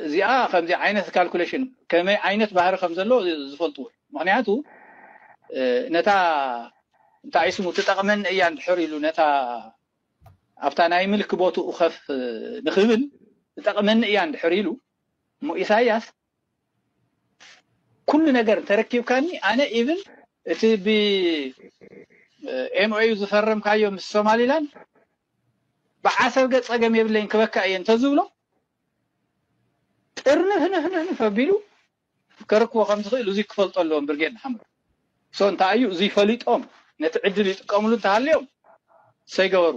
እዚኣ ከምዚ ዓይነት ካልኩሌሽን ከመይ ዓይነት ባህሪ ከም ዘለዎ ዝፈልጥዎ እዩ ምክንያቱ ነታ እንታይ ስሙ ትጠቕመኒ እያ እንድሕር ኢሉ ነታ ኣብታ ናይ ምልክ ቦትኡ ከፍ ንክብል ትጠቕመኒ እያ እንድሕር ኢሉ እሞ ኢሳያስ ኩሉ ነገር እንተረኪብካኒ ኣነ ኢቭን እቲ ብ ኤምኦዩ ዝፈረምካዮ ምስ ሶማሊላንድ ብዓሰብ ገ ፀገም የብለይን ክበካ እየ እንተዝብሎ ጥርንፍንፍንፍ ኣቢሉ ከረክቦ ከም ዝኽእል እዙይ ክፈልጦ ኣለዎም ብርጌድ ንሓመዱ so እንታይ እዩ እዙይ ፈሊጦም ነቲ ዕድል ይጥቀምሉ እንተሃልዮም ሰይገበሩ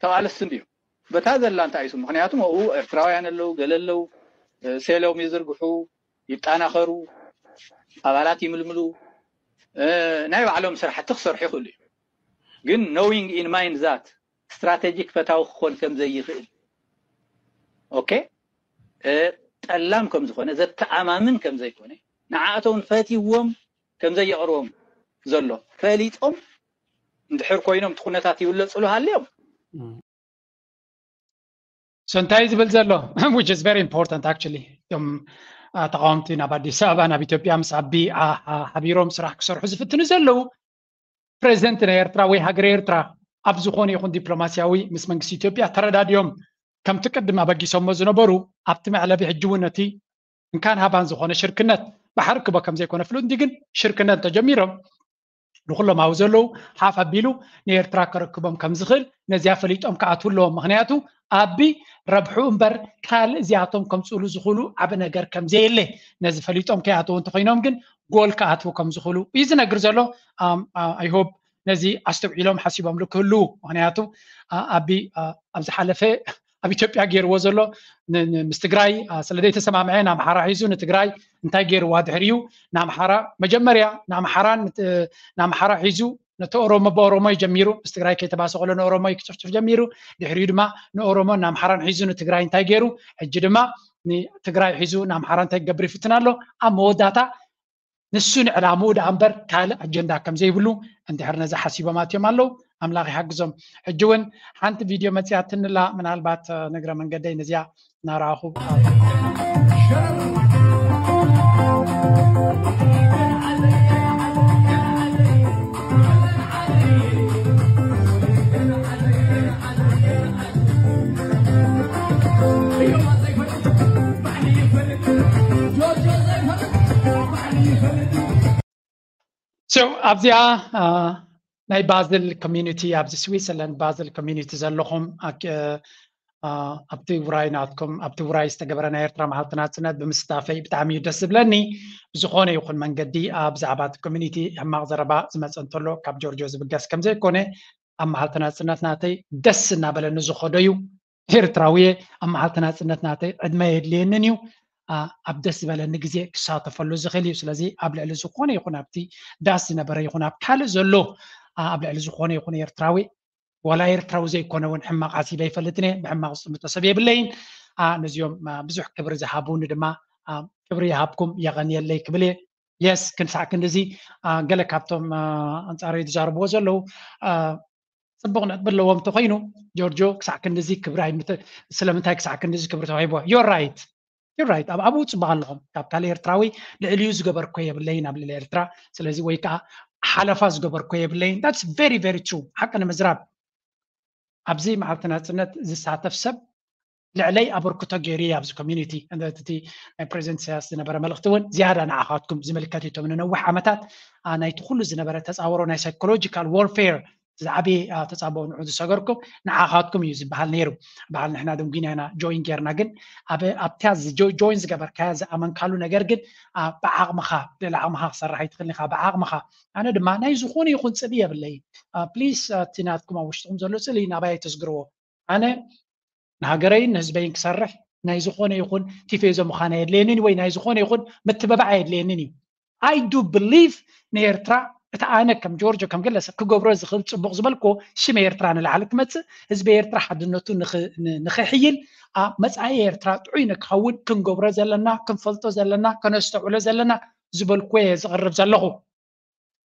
ተቓለስቲ እንድዮም በታ ዘላ እንታይ እዩ ምክንያቱም ኣብኡ ኤርትራውያን ኣለዉ ገለ ኣለዉ ሴሎም ይዝርግሑ ይጣናኸሩ ኣባላት ይምልምሉ ናይ ባዕሎም ስራሕቲ ክሰርሑ ይኽእሉ እዩ ግን knowing in mind that strategic ፈታዊ ክኾን ከም ዘይኽእል okay ጠላም ከም ዝኾነ ዘተኣማምን ከም ዘይኮነ ንዓኣቶም ፈትዎም ከም ዘየቕርቦም ዘሎ ፈሊጦም እንድሕር ኮይኖም እቲ ኩነታት ይብለፅሉ ሃልዮም so እንታይ ዝብል ዘሎ which is very important actually እቶም ተቃወምቲ ናብ ኣዲስ ኣበባ ናብ ኢትዮጵያ ምስ ኣቢ ሓቢሮም ስራሕ ክሰርሑ ዝፍትኑ ዘለዉ ፕሬዚደንት ናይ ኤርትራ ወይ ሃገረ ኤርትራ ኣብ ዝኾነ ይኹን ዲፕሎማስያዊ ምስ መንግስቲ ኢትዮጵያ ተረዳዲኦም ከምቲ ቅድም ኣበጊሶሞ ዝነበሩ ኣብቲ መዕለቢ ሕጂ እውን ነቲ እንካን ሃባን ዝኾነ ሽርክነት ብሓርክቦ ከም ዘይኮነ ፍሉጥ እንዲ ግን ሽርክነት ተጀሚሮም ንኩሎም ኣብኡ ዘለዉ ሓፍ ኣቢሉ ንኤርትራ ከረክቦም ከም ዝኽእል ነዚኣ ፈሊጦም ክኣትዉ ኣለዎም ምክንያቱ ኣቢ ረብሑ እምበር ካልእ እዚኣቶም ከምፅእሉ ዝኽእሉ ዓብ ነገር ከም ዘየለ ነዚ ፈሊጦም ከይኣተዉ እንተኮይኖም ግን ጎል ክኣትዉ ከም ዝኽእሉ እዩ ዝነግር ዘሎ I hope ነዚ ኣስተውዒሎም ሓሲቦምሉ ክህልዉ ምክንያቱ ኣቢ ኣብ ዝሓለፈ ኣብ ኢትዮጵያ ገይርዎ ዘሎ ምስ ትግራይ ስለ ዘይተሰማምዐ ንኣምሓራ ሒዙ ንትግራይ እንታይ ገይርዋ ድሕሪኡ ንኣምሓራ መጀመርያ ንኣምሓራን ንኣምሓራ ሒዙ ነቲ ኦሮሞ ብኦሮሞ ጀሚሩ ምስ ትግራይ ከይተባሰ ከሎ ንኦሮሞ ክጭፍጭፍ ጀሚሩ ድሕሪኡ ድማ ንኦሮሞ ንኣምሓራን ሒዙ ንትግራይ እንታይ ገይሩ ሕጂ ድማ ንትግራይ ሒዙ ንኣምሓራ እንታይ ክገብር ይፍትን ኣሎ። ኣብ መወዳእታ ንሱ ንዕላምኡ ደኣ እምበር ካልእ ኣጀንዳ ከም ዘይብሉ እንድሕር ነዚ ሓሲቦም ኣትዮም ኣለዉ። ኣምላኽ ይሓግዞም። ሕጂ እውን ሓንቲ ቪድዮ መፅያትንላ፣ ምናልባት ንግረ መንገደይ ነዚኣ እናረኣኹ ኣብዚኣ ናይ ባዝል ኮሚኒቲ፣ ኣብዚ ስዊዘርላንድ ባዝል ኮሚኒቲ ዘለኹም ኣብቲ ውራይ ናትኩም፣ ኣብቲ ውራይ ዝተገበረ ናይ ኤርትራ መዓልቲ ናጽነት ብምስታፈይ ብጣዕሚ እዩ ደስ ዝብለኒ። ብዝኾነ ይኹን መንገዲ ብዛዕባ እቲ ኮሚኒቲ ሕማቕ ዘረባ ዝመጸ እንተሎ ካብ ጆርጆ ዝብገስ ከም ዘይኮነ ኣብ መዓልቲ ናጽነት ናተይ ደስ እናበለኒ ዝኸዶ እዩ። ኤርትራዊ እየ። ኣብ መዓልቲ ናጽነት ናተይ ዕድመ የድልየንን እዩ። ኣብ ደስ ዝበለኒ ግዜ ክሳተፈሉ ዝኽእል እዩ። ስለዚ ኣብ ልዕሊ ዝኾነ ይኹን ኣብቲ ዳስ ዝነበረ ይኹን ኣብ ካልእ ዘሎ ኣብ ልዕሊ ዝኾነ ይኹን ኤርትራዊ ዋላ ኤርትራዊ ዘይኮነ እውን ሕማቕ ዓሲበ ኣይፈልጥን እየ። ብሕማቕ ዝጥምቶ ሰብ የብለይን። ነዚኦም ብዙሕ ክብሪ ዝሃቡኒ ድማ ክብሪ ይሃብኩም፣ የቐንየለይ ክብል እየ። የስ ክንሳዕ ክንድዚ ገለ ካብቶም ኣንጻረይ ዝዛረብዎ ዘለዉ ጽቡቕ ነጥቢ ኣለዎም እንተኾይኑ፣ ጆርጆ ክሳዕ ክንድዚ ክብሪ ኣይምተ-፣ ስለምንታይ ክሳዕ ክንድዚ ክብሪ ተዋሂብዎ? You're right. You're right. ኣብ ኣብኡ ጽቡቕ ኣለኹም። ካብ ካልእ ኤርትራዊ ልዕሊኡ ዝገበርኮ የብለይን ኣብ ልዕሊ ኤርትራ። ስለዚ ወይ ከዓ ሓለፋ ዝገበርኮ የብለይን። That's very, very true. ሓቂ ንምዝራብ ኣብዚ መዓልቲ ናጽነት ዝሳተፍ ሰብ ልዕለይ ኣበርክቶ ገይሩ እዩ ኣብዚ ኮሚኒቲ። እቲ ናይ ፕሬዚደንት ኢሳያስ ዝነበረ መልእኽቲ እውን ዝያዳ ንዓኻትኩም ዝምልከት እዩ። እቶም ንነዊሕ ዓመታት ናይቲ ኩሉ ዝነበረ ተጻወሮ ናይ ሳይኮሎጂካል ዋርፌር ዝዓበየ ተጻብኦ ንዑ ዝሰገርኩም ንዓኻትኩም እዩ ዝበሃል ነይሩ። በዓል ንሕና ደንጉና ኢና ጆይን ጌርና፣ ግን ኣብታ ጆይን ዝገበርካያ ዝኣመንካሉ ነገር ግን ብዓቕምኻ፣ ልዕሊ ዓቕምኻ ክሰርሕ ኣይትኽእልን ኢኻ። ብዓቕምኻ ኣነ ድማ ናይ ዝኾነ ይኹን ጽልኢ የብለይን። ፕሊስ እቲ ናትኩም ኣብ ውሽጥኹም ዘሎ ጽልኢ ናባይ ኣይተስግርዎ። ኣነ ንሃገረይን ንህዝበይን ክሰርሕ ናይ ዝኾነ ይኹን ቲፌዞ ምዃን ኣየድልየንን ወይ ናይ ዝኾነ ይኹን ምትበባዕ ኣየድልየንን እዩ። I do believe ንኤርትራ እቲ ኣነ ከም ጆርጆ ከም ገለ ሰብ ክገብሮ ዝኽእል ጽቡቕ ዝበልኮ ሽም ኤርትራ ንላዕሊ ክመጽእ፣ ህዝቢ ኤርትራ ሓድነቱ ንኽሕይል፣ መጻኢ ኤርትራ ጥዑይ ንክኸውን ክንገብሮ ዘለና፣ ክንፈልጦ ዘለና፣ ከነስተውዕሎ ዘለና ዝበልኮ እየ ዝቕርብ ዘለኹ።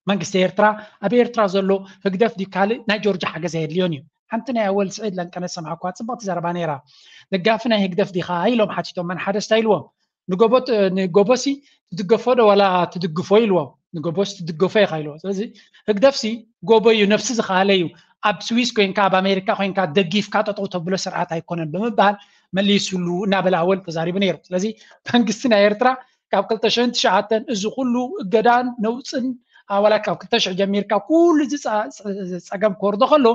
መንግስቲ ኤርትራ ኣብ ኤርትራ ዘሎ ህግደፍ ድዩ ካልእ ናይ ጆርጆ ሓገዝ ኣየድልዮን እዩ። ሓንቲ ናይ ኣወል ስዒድ ለንቀነ ሰማዕኳ ጽብቕቲ ዘረባ ነይራ። ደጋፊ ናይ ህግደፍ ዲኻ ኢሎም ሓቲቶም፣ መን ሓደስታ ኢልዎም። ንጎቦ ንጎቦሲ ትድገፎ ዶ ዋላ ትድግፎ ኢልዎም። ንጎቦስ ትድገፎ ኢኻ ኢልዎ። ስለዚ ህግደፍሲ ጎቦ እዩ፣ ነብሲ ዝኸኣለ እዩ። ኣብ ስዊስ ኮይንካ ኣብ ኣሜሪካ ኮይንካ ደጊፍካ ጠጠው ተብሎ ስርዓት ኣይኮነን ብምባል መሊሱሉ እናበለ ኣወል ተዛሪቡ ነይሩ። ስለዚ መንግስቲ ናይ ኤርትራ ካብ ክልተ ሽሕን ትሽዓተን እዚ ኩሉ እገዳን ነውፅን ዋላ ካብ ክልተ ሽሕ ጀሚርካ ኩሉ እዚ ፀገም ክወርዶ ከሎ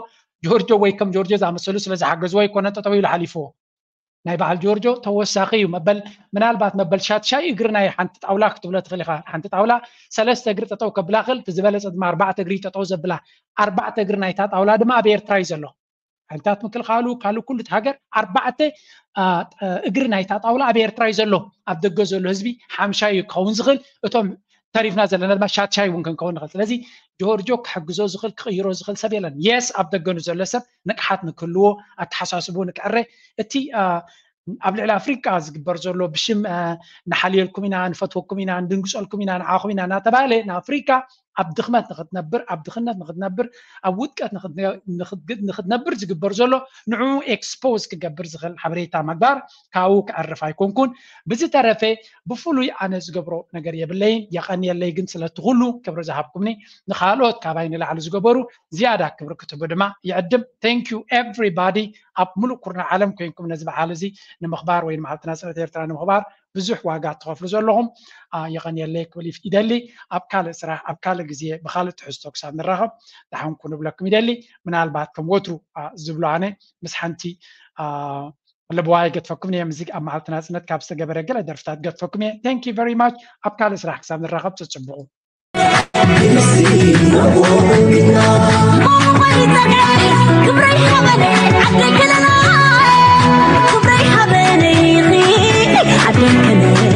ጆርጆ ወይ ከም ጆርጆ ዝኣመሰሉ ስለ ዝሓገዝዎ ኣይኮነ ጠጠው ኢሉ ሓሊፍዎ። ናይ በዓል ጆርጆ ተወሳኺ እዩ። መበል ምናልባት መበል ሻትሻይ እግሪ ናይ ሓንቲ ጣውላ ክትብሎ ትኽእል ኢኻ። ሓንቲ ጣውላ ሰለስተ እግሪ ጠጠው ከብላ ክእል፣ እቲ ዝበለፀ ድማ ኣርባዕተ እግሪ ጠጠው ዘብላ። ኣርባዕተ እግሪ ናይታ ጣውላ ድማ ኣብ ኤርትራ እዩ ዘሎ። ሓይልታት ምክልኻሉ ካልእ ኩሉ እቲ ሃገር ኣርባዕተ እግሪ ናይታ ጣውላ ኣብ ኤርትራ እዩ ዘሎ። ኣብ ደገ ዘሎ ህዝቢ ሓምሻይ እዩ ክኸውን ዝኽእል። እቶም ተሪፍና ዘለና ድማ ሻትሻይ እውን ክንከውን ንኽእል። ስለዚ ጆርጆ ክሕግዞ ዝኽእል ክቕይሮ ዝኽእል ሰብ የለን። የስ ኣብ ደገኑ ዘሎ ሰብ ንቕሓት ንክህልዎ ኣተሓሳስቡ ንክዕረ እቲ ኣብ ልዕሊ ኣፍሪቃ ዝግበር ዘሎ ብሽም ንሓልየልኩም ኢና ንፈትወኩም ኢና ንድንግፀልኩም ኢና ንዓኹም ኢና እናተባሃለ ንኣፍሪቃ ኣብ ድኽመት ንክትነብር ኣብ ድኽነት ንክትነብር ኣብ ውድቀት ንክትነብር ዝግበር ዘሎ ንዕኡ ኤክስፖዝ ክገብር ዝኽእል ሓበሬታ ምግባር ካብኡ ክዕርፍ ኣይኮንኩን። ብዝተረፈ ብፍሉይ ኣነ ዝገብሮ ነገር የብለይን። የቐንየለይ ግን ስለቲ ኩሉ ክብሪ ዝሃብኩምኒ ንካልኦት ካባይ ንላዕሊ ዝገበሩ ዝያዳ ክብሪ ክትህቡ ድማ ይዕድም። Thank you everybody ኣብ ሙሉእ ኩርና ዓለም ኮይንኩም ነዚ በዓል እዚ ንምኽባር ወይ ንመዓልቲ ናጽነት ኤርትራ ንምኽባር ብዙሕ ዋጋ ትኸፍሉ ዘለኹም የቐንየለይ ክብል ይደሊ። ኣብ ካልእ ስራሕ ኣብ ካልእ ግዜ ብካልእ ትሕዝቶ ክሳብ ንራኸብ ደሓንኩ ንብለኩም ይደሊ። ምናልባት ከም ወትሩ ዝብሎ ኣነ ምስ ሓንቲ ለበዋ ይገድፈኩም እየ። ምዚ ኣብ መዓልቲ ናጽነት ካብ ዝተገበረ ገለ ደርፍታት ገድፈኩም እየ። Thank you very much። ኣብ ካልእ ስራሕ ክሳብ ንራኸብ ጽጽብቑ። ክብረይ ሃበነ ዓደይ ከለላ ክብረይ ሃበነ ዓደይ ከለላ